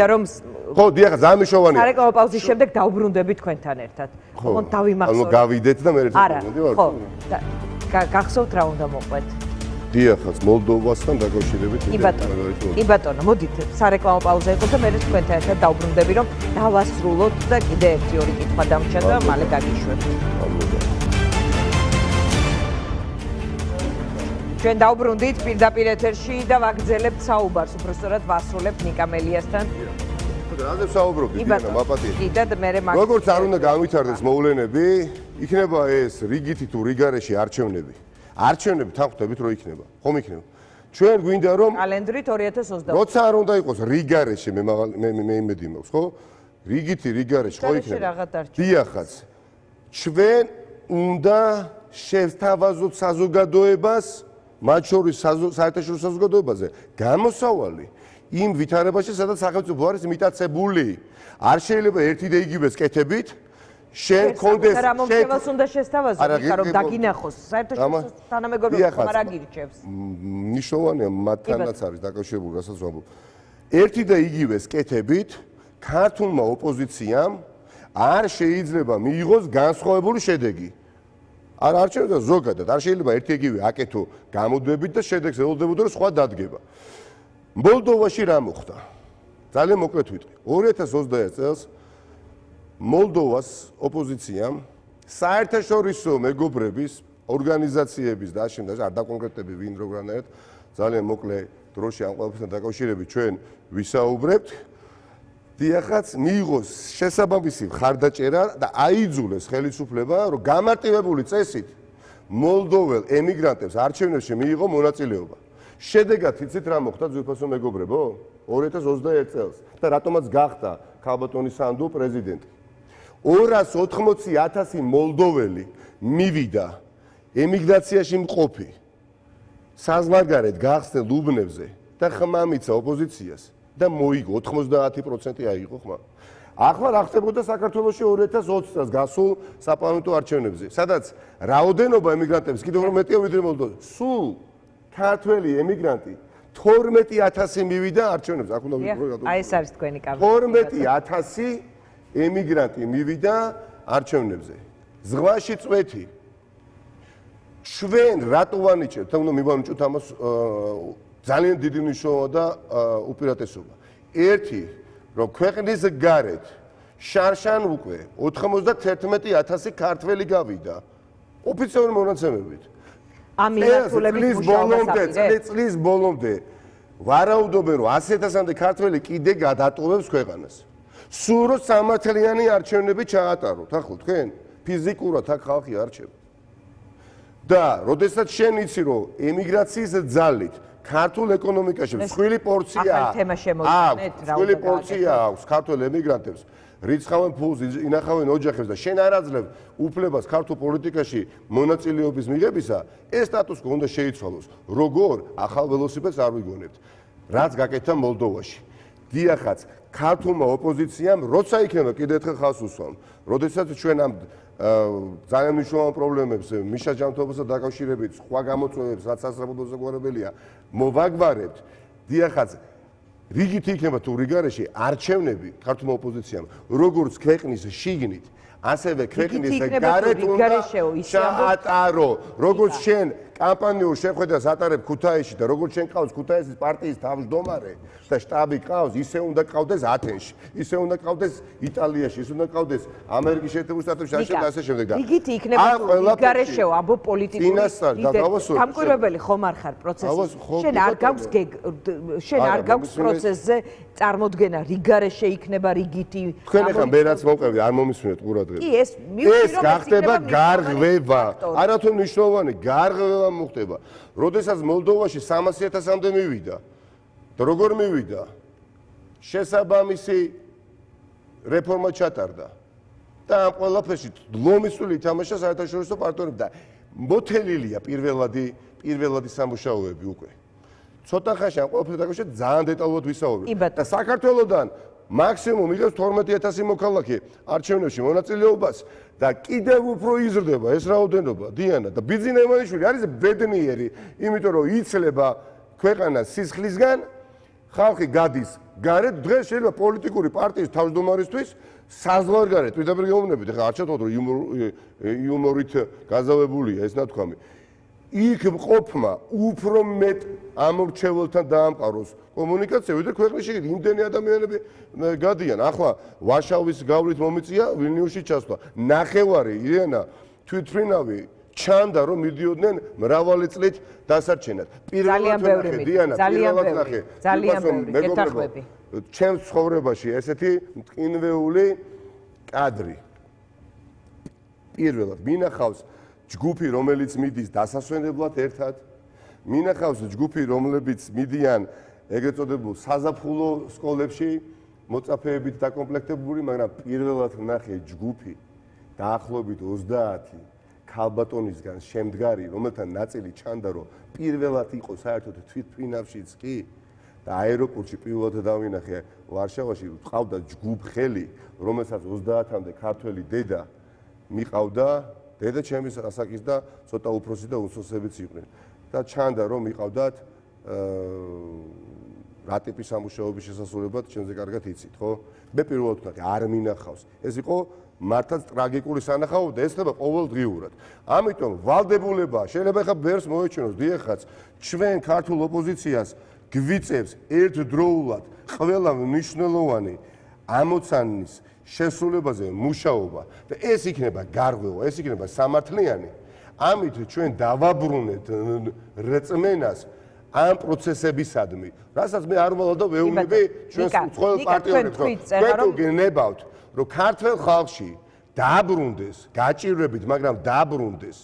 ხო, დიახ, ძალიან მნიშვნელოვანია. სარეკლამო პაუზის შემდეგ დავბრუნდები თქვენთან ერთად. ოღონდ დავიმახსოვრე. ანუ გავიდეთ და მე ერთად მოვიდეთ. ხო, გახსოვთ რა უნდა მოყვეთ? დიახაც, მოლდოვასთან დაკავშირებით. კი ბატონო, მოდით სარეკლამო პაუზა იყო და მე თქვენთან ერთად დავბრუნდები, რომ დავასრულოთ და კიდე ერთი-ორი კითხვა დამრჩა და მალე გაგიშვებთ. ჩვენ დავბრუნდით პირდაპირ ეთერში და ვაგრძელებთ საუბარს, უბრალოდ ვასრულებთ ნიკა მელიასთან. რაზე საუბრობთ, დიანა, მაპატიეთ. კი და მე როგორც არ უნდა გამვითარდეს მოვლენები, იქნება ეს რიგითი თუ რიგარეში არჩევნები. არჩევნები თანხმდებით რომ იქნება. ხომ იქნება? ჩვენ გვინდა რომ კალენდრით 2020. როცა არ უნდა იყოს რიგარეში, მე იმედი მაქვს, ხო? რიგითი რიგარეში ხო იქნება? დიახაც. ჩვენ უნდა შევთავაზოთ საზოგადოებას მათ შორის საერთაშორისო საზოგადოებაზე გამოსავალი იმ ვითარებაში, სადაც სახელმწიფო არის მიტაცებული. არ შეიძლება ერთი და იგივე კეთებით შენ კონდეს შენ უნდა შესთავაზო, რომ დაგინახოს საერთაშორისო თანამეგობრობა არ აგირჩევს. მნიშვნელოვანია მათთანაც არის დაკავშირებული, რასაც ვამბობ. ერთი და იგივე კეთებით ქართულმა ოპოზიციამ არ შეიძლება მიიღოს განსხვავებული შედეგი. არ არჩევდა ზოგადად, არ შეიძლება ერთი-იგივე აკეთო გამოდებით და შედეგს ელოდებოდა რომ სხვა დადგება. მოლდოვაში რა მოხდა? ძალიან მოკლედ ვიტყვი. 2021 წელს მოლდოვას ოპოზიციამ საერთაშორისო მეგობრების ორგანიზაციების და აშენდა არ დაკონკრეტები ვინ როგორად ძალიან მოკლე დროში ამ ყველაფერთან დაკავშირებით ჩვენ ვისაუბრებთ. დიახაც მიიღოს შესაბამისი ხარდაჭერა და აიძულეს ხელისუფლება რომ გამარტივებული წესით მოლდოվել ემიგრანტებს არჩევნებში მიიღო მონაწილეობა. შედეგად იცით რა მოხდა ძვირფასო მეგობრებო? 2021 წელს და რატომაც გახდა ქალბატონი სანდუ პრეზიდენტი. 280,000 მოლდოველი მივიდა ემიგრაციაში მყოფი საზღვარგარეთ გახსნილ უბნებზე და ხმამიცა ოპოზიციას და მოიგო 90% აიღო ხმა. ახლა რა ხდებოდა საქართველოში 2020 წელს გასულ საპარლამენტო არჩევნებზე, სადაც რაოდენობა ემიგრანტების კიდევ უფრო მეტია ვიდრე მოლდოვაში. სულ ქართველი ემიგრანტი 12,000 მივიდა არჩევნებზე. აქ უნდა ვიტყვი. აი ეს არის თქვენი კამპანია. 12,000 ემიგრანტი მივიდა არჩევნებზე. ზღვაში წვეთი. ჩვენ რატო ვანიჭებთ? თუნდაც მივანიჭოთ ამას ძალიან დიდი მნიშვნელობა და უპირატესობა. ერთი, რომ ქვეყნის გარეთ შარშან უკვე 91,000 ქართველი გავიდა ოფიციალური მონაცემებით. ამ მიმართულებით მუშაობას აპირებთ. წლის ბოლომდე ვარაუდობენ, რომ 100.000-მდე ქართველი კიდე გადატოვებს ქვეყანას. სულ რომ სამართლიანი არჩევნები ჩაატაროთ, ახლა თქვენ ფიზიკურად აქ ხალხი არჩევს. და როდესაც შენ იცი, რომ ემიგრაციის ძალით ქართულ ეკონომიკაში მსხვილი პორცია აქვს ქართულ ემიგრანტებს, რიცხავენ ფულს, ინახავენ ოჯახებს და შენ არ აძლევ უფლებას ქართულ პოლიტიკაში მონაწილეობის მიღებისა, ეს სტატუს კო უნდა შეიცვალოს. როგორ ახალ ველოსიპედს არ ვიგონებთ, რაც გაკეთა მოლდოვაში. დიახაც, ქართულმა ოპოზიციამ როცა იქნება კიდევ ერთხელ ხალხს უსვამ, როდესაც ჩვენ ამ ძალიან მნიშვნელოვან პრობლემებს მიშა ჯანმრთელობასთან დაკავშირებით სხვა გამოწვევებს, რაც სასწრაფო საგვარებელია, მოვაგვარებთ. დიახაც, რიგით იქნება თუ რიგარეში არჩევნები ქართულმა ოპოზიციამ, როგორც ქვეყნის შიგნით, ასევე ქვეყნის გარეთ უნდა ჩაატარო. როგორც შენ კამპანიურ შეხვედრას ატარებ ქუთაისში და როგორც შენ ყავს ქუთაისის პარტიის თავმჯდომარე და შტაბი ყავს, ისე უნდა ყავდეს ათენში, ისე უნდა ყავდეს იტალიაში, ისე უნდა ყავდეს ამერიკის შეერთებულ შტატებში, ასე შემდეგ. რიგით იქნება რიგარეშეო ამბო პოლიტიკური დამკვირვებელი ხომ არ ხარ პროცესში. შენ არ გაქვს პროცესზე წარმოდგენა რიგარეშე იქნება რიგითი. თქვენ ახლა მე რაც მოვყევი არ მომისმენთ ყურადღება. კი ეს გახდება გარღვევა. არათუ მნიშვნელოვანი გარღვევა მოხდება. როდესაც მოლდოვაში 300.000-მდე მივიდა და როგორ მივიდა? შესაბამისი რეფორმა ჩატარდა. და ამ ყველაფერში ლომისული ითამაშა საერთაშორისო პარტნიორები და მოთელილია პირველადი სამუშაოები უკვე. ცოტა ხანში ამ ყველაფერთან დაკავშირებით ძალიან დეტალურად ვისაუბრებ. და საქართველოსდან მაქსიმუმ იღებს 12.000 მოქალაქე არჩევნებში მონაწილეობას და კიდევ უფრო იზრდება ეს რაოდენობა. დიანა და ბიძინა ივანიშვილი არის ბედნიერი, იმიტომ რომ იცლება ქვეყანას სისხლისგან, ხალხი გადის გარეთ, დღეს შეიძლება პოლიტიკური პარტიის თავმჯდომარისთვის საზღვარგარეთ პირდაპირ გეუბნებით, ახლა არ ჩათვალოთ რომ იუმორით გაზავებულია ეს ნათქვამი. იქ მყოფმა უფრო მეტ ამორჩეველთან დაამყაროს კომუნიკაცია, ვიდრე ქვეყნის შიგნით იმდენი ადამიანები გადიან. ახლა ვარშავის გავლით მომიწია ვილნიუსში ჩასვლა. ნახევარი ირენა თვითმფრინავი ჩანდა რომ მიდიოდნენ მრავალი წლით დასარჩენად. ძალიან ბევრი მიდიოდა. ძალიან ბევრი გეთახმები. ჩემს ცხოვრებაში ესეთი მტკინვეული კადრი. პირველად მინახავს ჯგუფი, რომელიც მიდის დასასვენებლად ერთად, მინახავს ჯგუფი, რომლებიც მიდიან ეგრეთ წოდებულ საზაფხულო სკოლებში, მოწაფეებით დაკომპლექტებული, მაგრამ პირველად ნახე ჯგუფი დაახლოებით 30 ქალბატონისგან შემდგარი, რომელთა ნაწილი ჩანდა, რომ პირველად იყო საერთოდ თვითმფრინავშიც კი და აეროპორტში პირველად დავინახე ვარშავაში, ყავდა ჯგუფხელი, რომელსაც 30-მდე ქართველი დედა მიყავდა. დედა ჩემის ასაკის და ცოტა უფროსი და უცოცებიც იყვნენ. და ჩანდა რომ მიყავდათ რა ტიპის სამუშაოების შესასრულებლად ჩემზე კარგად იცით, ხო? მე პირველად ვთქვი, არ მინახავს. ეს იყო მართლაც ტრაგიკული სანახაობა და ეს ხდება ყოველდღიურად. ამიტომ ვალდებულება შეიძლება ხა ბერს მოეჩვენოს, დიახაც, ჩვენ ქართულ ოპოზიციას გვიწევს ერთდროულად ყველა მნიშვნელოვანი ამოცანის შესრულებაზე მუშაობა და ეს იქნება გარღვევა, ეს იქნება სამართლიანი. ამით ჩვენ დავაბრუნეთ რწმენას ამ პროცესებისადმი, რასაც მე არ ვალავ და ვეუბნები ჩვენს უცხოელ პარტნიორებს, რომ გენებავთ, რომ ქართულ ხალხში დააბრუნდეს, გაჭირვებით, მაგრამ დააბრუნდეს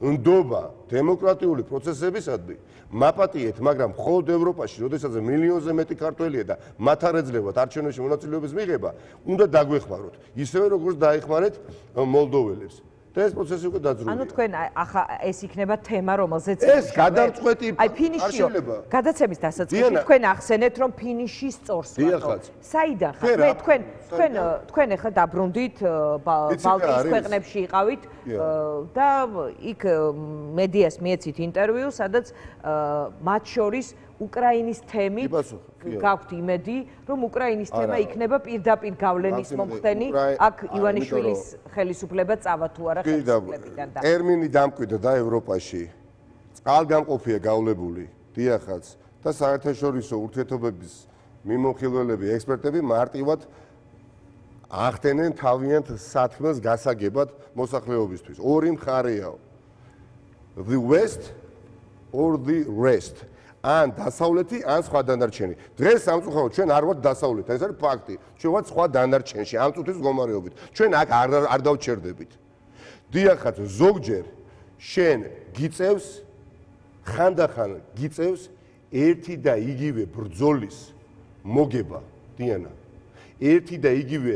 ნდობა დემოკრატიული პროცესებისადმი, მაპატიეთ, მაგრამ მხოლოდ ევროპაში, როდესაც მილიონზე მეტი ქართველია და მათ არ ეძლებათ არჩევნებში მონაწილეობის მიღება, უნდა დაგვეხმაროთ, ისევე როგორც დაეხმარეთ მოლდოველებს. და ეს პროცესი უკვე დაძრულია. ანუ თქვენ ახლა ეს იქნება თემა, რომელზეც ეს გადამწყვეტი ფინიშიო. გადაცემის დასაწყისში თქვენ ახსენეთ, რომ ფინიში სწორს ვართ. საიდან ხარ? თქვენ ახლა დაბრუნდით ბალტიის ქვეყნებში იყავით და იქ მედიას მიეცით ინტერვიუ, სადაც მათ შორის უკრაინის თემით გაქვთ იმედი, რომ უკრაინის თემა იქნება პირდაპირ გავლენის მომხდენი, აქ ივანიშვილის ხელისუფლება წავა თუ არა ხელისუფლებიდან და ტერმინი დამკვიდრდა და ევროპაში წყალგამყოფია გავლებული, დიახაც და საერთაშორისო ურთიერთობების მიმოხილველები, ექსპერტები მარტივად ახდენენ თავიანთ საქმეს გასაგებად მოსახლეობისთვის. ორი მხარეაო. The West or the rest. ან დასავლეთი, ან სხვა დანარჩენი. დღეს სამწუხაროდ ჩვენ არ ვართ დასავლეთ, ეს არის ფაქტი. ჩვენ ვართ სხვა დანარჩენში, ამ წუთის მდგომარეობით. ჩვენ აქ არ დავჩერდებით. დიახაც, ზოგჯერ შენ გიწევს ხანდახან გიწევს ერთი და იგივე ბრძოლის მოგება, დიანა. ერთი და იგივე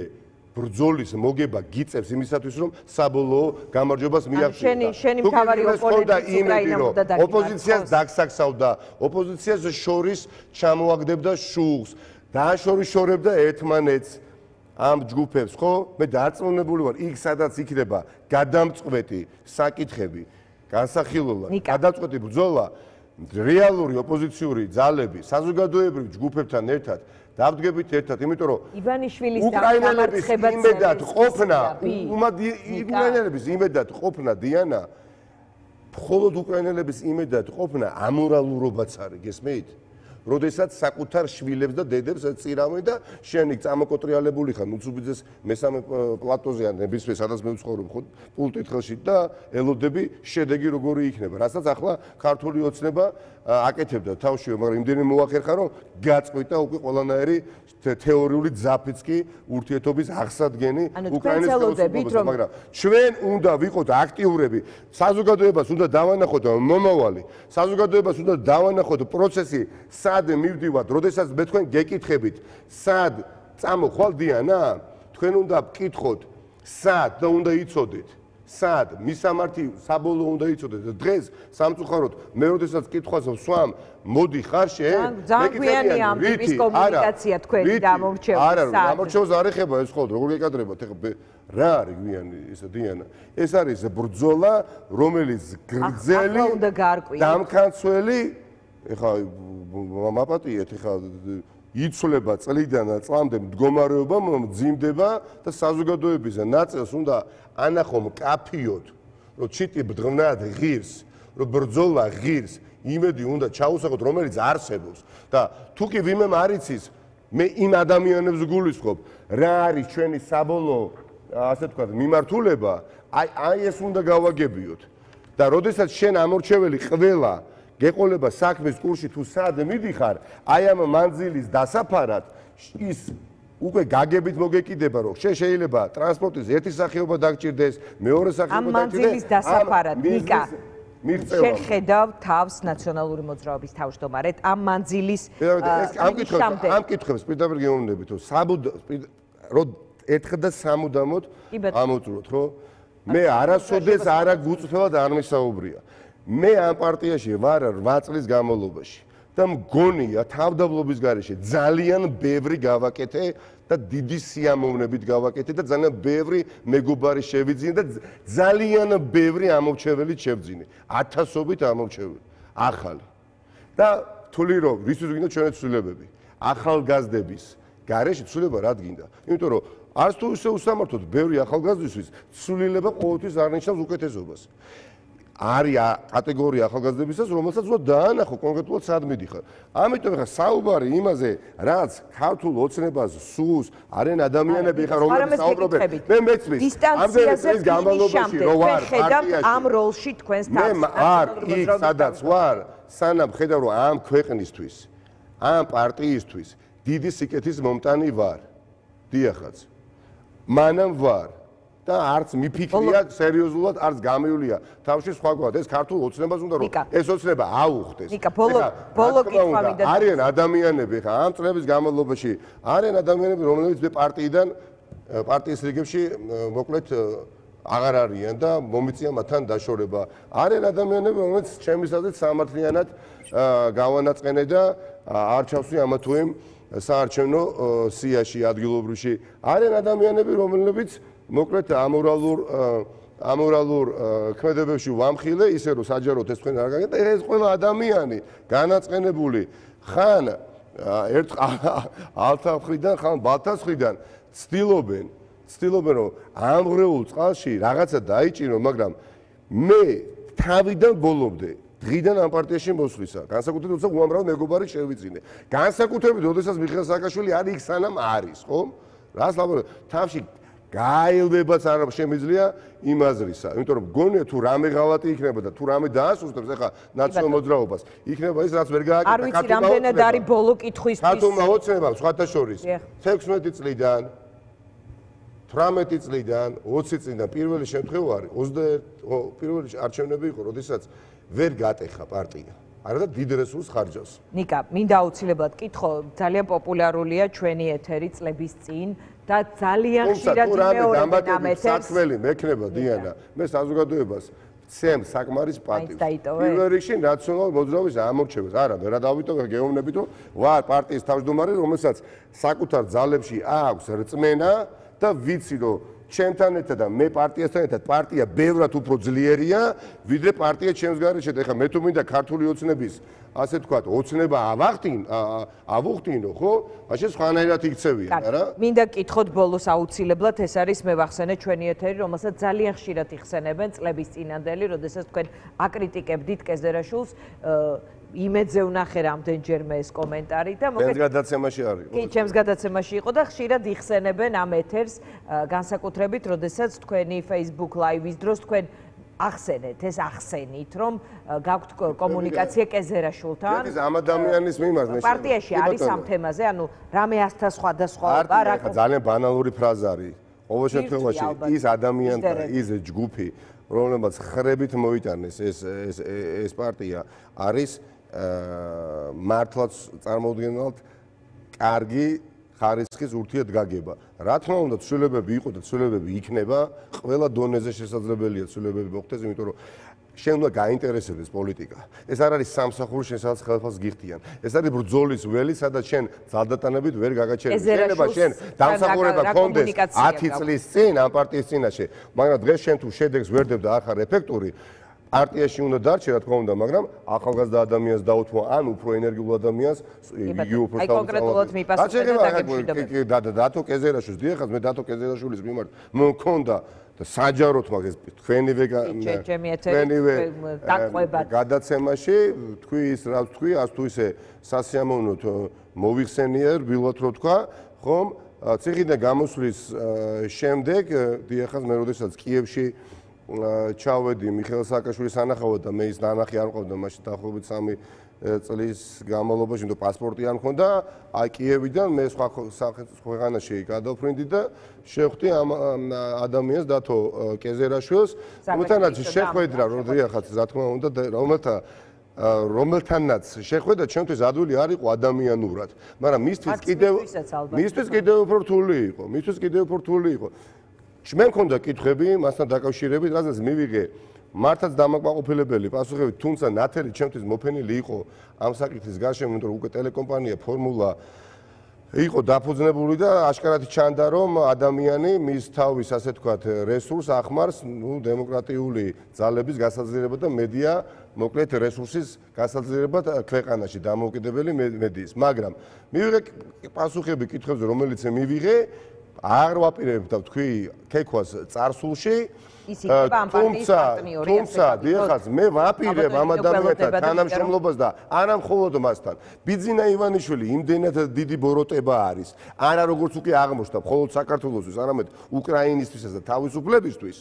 ბრძოლის მოგება გიწევს იმისათვის, რომ საბოლოო გამარჯვებას მიაღწიო. შენი მთავარი ოპონენტი უკრაინამ და დაგიმარცხოს. ოპოზიციას დაგსაქსავდა, ოპოზიციას შორის ჩამოაგდებდა შუღს, დააშორიშორებდა ერთმანეთს ამ ჯგუფებს, ხო? მე დარწმუნებული ვარ, იქ სადაც იქნება გადამწყვეტი საკითხები, განსახილველად, გადამწყვეტი ბრძოლა, რეალური ოპოზიციური ძალები, საზოგადოებრივ ჯგუფებთან ერთად დავდგებით ერთად, იმიტომ რომ ივანიშვილის უკრაინელების იმედად ყოფნა, უკრაინელების იმედად ყოფნა დიანა, მხოლოდ უკრაინელების იმედად ყოფნა ამორალურობაც არის, გესმით? როდესაც საკუთარ შვილებს და დედებს წირავენ და შენ იქ წამოკოტრიალებული ხარ უცუბიძეს მესამე პლატოზე ან ნებისმიერ სადაც მე ვცხოვრობ ხო პულტით ხელში და ელოდები შედეგი როგორი იქნება, რასაც ახლა ქართული ოცნება აკეთებდა თავშივე, მაგრამ იმდენი მოახერხა რომ გაწყვიტა უკვე ყველანაირი თეორიული ძაფიც კი ურთიერთობის აღსადგენი უკრაინის ხელისუფლებაზე, მაგრამ ჩვენ უნდა ვიყოთ აქტიურები, საზოგადოებას უნდა დავანახოთ მომავალი, საზოგადოებას უნდა დავანახოთ პროცესი სად მივდივართ, როდესაც მე თქვენ გეკითხებით, სად წამოხვალ დიანა, თქვენ უნდა ვკითხოთ, სად და უნდა იცოდეთ, სად მისამართი საბოლოო უნდა იცოდეთ და დღეს სამწუხაროდ მე როდესაც კითხვას ვსვამ, მოდი ხარ შენ, მეკითხები ამ ტიპის კომუნიკაცია თქვენი დამორჩევის სად? არა, დამორჩევას არ ეხება ეს ხოლმე, როგორ გეკადრებათ, ეხლა რა არის გვიანი ესა დიანა? ეს არის ბრძოლა, რომელიც გრძელი დამქანცველი, ეხლა მაპატიეთ, ეხლა იცვლება წლიდან წლამდე მდგომარეობა მძიმდება და საზოგადოების ნაწილს უნდა ანახო მკაფიოდ, რომ ჩიტი ბრძნად ღირს, რომ ბრძოლა ღირს, იმედი უნდა ჩაუსახოთ, რომელიც არსებობს და თუ კი ვინმე არ იცის, მე იმ ადამიანებს გულისხმობ, რა არის ჩვენი საბოლოო, ასე თქვა, მიმართულება, აი ეს უნდა გავაგებიოთ და როდესაც შენ ამორჩეველი ყველა გეყოლება საქმის კურსში თუ სად მიდიხარ, აი ამ მანძილის დასაფარად ის უკვე გაგებით მოგეკიდება, რომ შეიძლება ტრანსპორტის ერთი სახეობა დაგჭირდეს, მეორე სახეობა დაგჭირდეს. ამ მანძილის დასაფარად, ნიკა, შენ ხედავ თავს ნაციონალური მოძრაობის თავმჯდომარედ ამ მანძილის ამ კითხვებს პირდაპირ გეუბნებით, რომ ერთხელ და სამუდამოდ ამოწუროთ, ხო? მე არასოდეს არა გუწფელად არ მისაუბრია. მე ამ პარტიაში ვარ 8 წლის განმავლობაში და მგონია თავდაბლობის გარეშე ძალიან ბევრი გავაკეთე და დიდი სიამოვნებით გავაკეთე და ძალიან ბევრი მეგობარი შევიძინე და ძალიან ბევრი ამორჩეველი შევძინე, ათასობით ამორჩეველი, ახალი. და თვლი რომ რისთვის გინდა ჩვენი ცვლილებები, ახალგაზრდების გარეშე ცვლილება რა გინდა? იმიტომ რომ არც თუ ისე უსამართოდ ბევრი ახალგაზრდისთვის ცვლილება ყოველთვის არ ნიშნავს უკეთესობას. არის კატეგორია ახალგაზრდებისას, რომელსაც უნდა დაანახო კონკრეტულად სად მიდიხარ. ამიტომ ახლა საუბარი იმაზე, რაც ქართულ ოცნებას სურს, არიან ადამიანები ხარ, რომლებიც საუბრობენ. მე მეცმის. დისტანციაზე გამალობაში რო ვარ პარტიაში. ამ როლში თქვენს თავს. მე არ იქ სადაც ვარ, სანამ ხედავ რომ ამ ქვეყნისთვის, ამ პარტიისთვის დიდი სიკეთის მომტანი ვარ. დიახაც. მანამ ვარ. და არც მიფიქრია სერიოზულად, არც გამიულია თავში სხვაგვარად. ეს ქართულ ოცნებას უნდა რომ ეს ოცნება აუხდეს. ნიკა, ბოლო კითხვა მინდა. არიან ადამიანები ხა ამ წლების განმავლობაში, არიან ადამიანები, რომლებიც მე პარტიის რიგებში მოკლედ აღარ არიან და მომიწია მათთან დაშორება. არიან ადამიანები, რომლებიც ჩემის აზრით სამართლიანად გავანაწყენე და არ ჩავსვი ამა თუ იმ საარჩევნო სიაში ადგილობრივში. არიან ადამიანები, რომლებიც მოკლედ ამორალურ ქმედებებში ვამხილე, ისე რომ საჯაროდ ეს თქვენ არ გაგეთ, ეს ყველა ადამიანი განაწყენებული ხან ერთ ალთახრიდან, ხან ბალთასხრიდან ცდილობენ რომ ამღრეულ წყალში რაღაცა დაიჭირო, მაგრამ მე თავიდან ბოლომდე დღიდან ამ პარტიაში მოსვლისა, განსაკუთრებით როცა უამრავ მეგობარი შევიძინე. განსაკუთრებით როდესაც მიხეილ სააკაშვილი არის იქ სანამ არის, ხო? რას ლაპარაკობ? თავში გაელვებას არ შემიძლია იმ აზრისა. იმიტომ რომ გონია თუ რამე ღალატი იქნება და თუ რამე დაასუსტებს ახლა ნაციონალურ მოძრაობას, იქნება ის რაც ვერ გააკეთა არ ვიცი რამდენად არის ბოლო კითხვისთვის. ქართულმა ოცნება სხვათა შორის 16 წლიდან 18 წლიდან 20 წლიდან პირველი შემთხვევა არის 21 პირველი არჩევნები იყო, როდესაც ვერ გატეხა პარტია. არა და დიდ რესურსს ხარჯავს. ნიკა, მინდა აუცილებლად კითხო, ძალიან პოპულარულია ჩვენი ეთერი წლების წინ და ძალიან ხშირად იმეორებენ ამ ეთერს. საქმელი მექნება დიანა, მე საზოგადოებას ცემ საკმარის პატივს. პირველ რიგში ნაციონალურ მოძრაობის ამორჩევას. არა, მე რა დავიტოვე გეუბნებით, რომ ვარ პარტიის თავმჯდომარე, რომელსაც საკუთარ ძალებში აქვს რწმენა და ვიცი, რომ ჩემთან ერთად და მე პარტიასთან ერთად პარტია ბევრად უფრო ძლიერია, ვიდრე პარტია ჩემს გარეშე. ეხლა მე თუ მინდა ქართული ოცნების, ასე თქვათ, ოცნება ავუხტინო, ხო? მაშინ სხვანაირად იქცევიან, არა? მინდა კითხოთ ბოლოს აუცილებლად, ეს არის მე ვახსენე ჩვენი ეთერი, რომელსაც ძალიან ხშირად იხსენებენ წლების წინანდელი, როდესაც თქვენ აკრიტიკებდით კეზერაშვილს, იმედზე ვნახე რამდენჯერმე ეს კომენტარი და მოგეთ გადაცემაში არის. კი, ჩემს გადაცემაში იყო და ხშირად იხსენებენ ამ ეთერს, განსაკუთრებით, როდესაც თქვენი Facebook Live-ის დროს თქვენ ახსენეთ, ეს ახსენით, რომ გაქვთ კომუნიკაცია კეზერაშვილთან. ეს ამ ადამიანის მიმართ პარტიაში არის ამ თემაზე, ანუ რამე ასთა სხვადასხვაობა, რა ძალიან ბანალური ფრაზა არის. ყოველ შემთხვევაში ის ადამიანთა, ის ჯგუფი, რომელმაც ხრებით მოიტანეს ეს პარტია არის მართლაც წარმოუდგენლად კარგი ხარისხის ურთიერთგაგება. რა თქმა უნდა, ცვლილებები იყო და ცვლილებები იქნება, ყველა დონეზე შესაძლებელია ცვლილებები მოხდეს, იმიტომ რომ შენ უნდა გაინტერესებდეს პოლიტიკა. ეს არ არის სამსახური, შენ სადაც ხელფასს გიხდიან. ეს არის ბრძოლის ველი, სადაც შენ ძალდატანებით ვერ გაგაჩერებ. შეიძლება შენ დამსახურება გქონდეს 10 წლის წინ ამ პარტიის წინაშე, მაგრამ დღეს შენ თუ შედეგს ვერ დებ და არ ხარ ეფექტური, პარტიაში უნდა დარჩე, რა თქმა უნდა, მაგრამ ახალგაზრდა ადამიანს დაუთმო, ან უფრო ენერგიულ ადამიანს, იგი უფრო აი კონკრეტულად მიპასუხეთ და დაგემშვიდობეთ. დათო კეზერაშვილს, დიახაც, მე დათო კეზერაშვილის მიმართ მქონდა და საჯაროდ მაგას თქვენივე გადაცემაში თქვი ის რა თქვი, ას თუ ისე სასიამოვნოდ მოიხსენია რბილად რო თქვა, ხომ? ციხიდან გამოსვლის შემდეგ, დიახაც, მე როდესაც კიევში ჩავედი მიხეილ სააკაშვილის სანახავად და მე ის ნანახი არ მყავდა მაშინ დაახლოებით 3 წლის განმავლობაში, იმიტომ პასპორტი არ მქონდა, აი კიევიდან მე სხვა ქვეყანაში გადავფრინდი და შევხვდი ამ ადამიანს დათო კეზერაშვილს, რომელთანაც შეხვედრა, როდესაც რა თქმა უნდა, რომელთანაც შეხვედრა ჩემთვის ადვილი არ იყო ადამიანურად, მაგრამ მისთვის კიდევ უფრო რთული იყო. მე მქონდა კითხვები მასთან დაკავშირებით, რადგან მივიღე მართლაც დამაკმაყოფილებელი პასუხები, თუმცა ნათელი ჩემთვის მოფენილი იყო ამ საკითხის გარშემო, იმიტომ რომ უკვე ტელეკომპანია ფორმულა იყო დაფუძნებული და აშკარად ჩანდა, რომ ადამიანი მის თავის, ასე თქვათ, რესურს ახმარს, დემოკრატიული ძალების გასაძლიერებლად და მედია, მოკლედ რესურსის გასაძლიერებლად ქვეყანაში დამოუკიდებელი მედიის. მაგრამ მივიღე პასუხები კითხვებზე, რომელიც მივიღე არ ვაპირებ და თქვი ქექვას წარსულში, თუმცა დიახაც მე ვაპირებ ამ ადამიანთან თანამშრომლობას და არა მხოლოდ მასთან. ბიძინა ივანიშვილი იმდენად დიდი ბოროტება არის, არა როგორც უკვე აღმოჩნდა მხოლოდ საქართველოსთვის, არამედ უკრაინისთვისაც და თავისუფლებისთვის.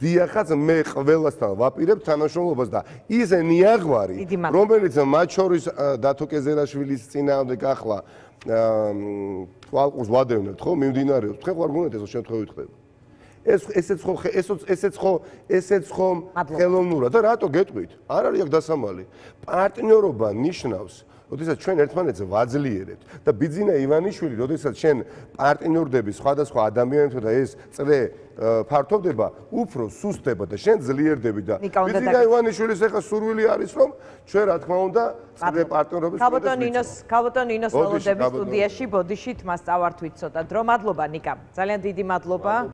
დიახაც მე ყველასთან ვაპირებ თანამშრომლობას და ის ნიაღვარი, რომელიც მათ შორის დათო კეზერაშვილის წინააღმდეგ ახლა თვალყურს ვადევნებთ, ხო, მიმდინარეობს. თქვენ ხარ გუნდეთ ეს შემთხვევით ხდება. ესეც ხო ხელოვნურად და რატო გეტყვით? არ არის აქ დასამალი. პარტნიორობა ნიშნავს, როდესაც ჩვენ ერთმანეთს ვაძლიერებთ და ბიძინა ივანიშვილი, როდესაც შენ პარტნიორდები სხვადასხვა ადამიანებთან და ეს წრე ფართოვდება, უფრო სუსტდება და შენ ძლიერდები და ბიძინა ივანიშვილის ახლა სურვილი არის, რომ ჩვენ რა თქმა უნდა წრე პარტნიორობის ქალბატონ ნინოს ველოდების სტუდიაში ბოდიშით მას წავართვით ცოტა დრო. მადლობა ნიკა. ძალიან დიდი მადლობა.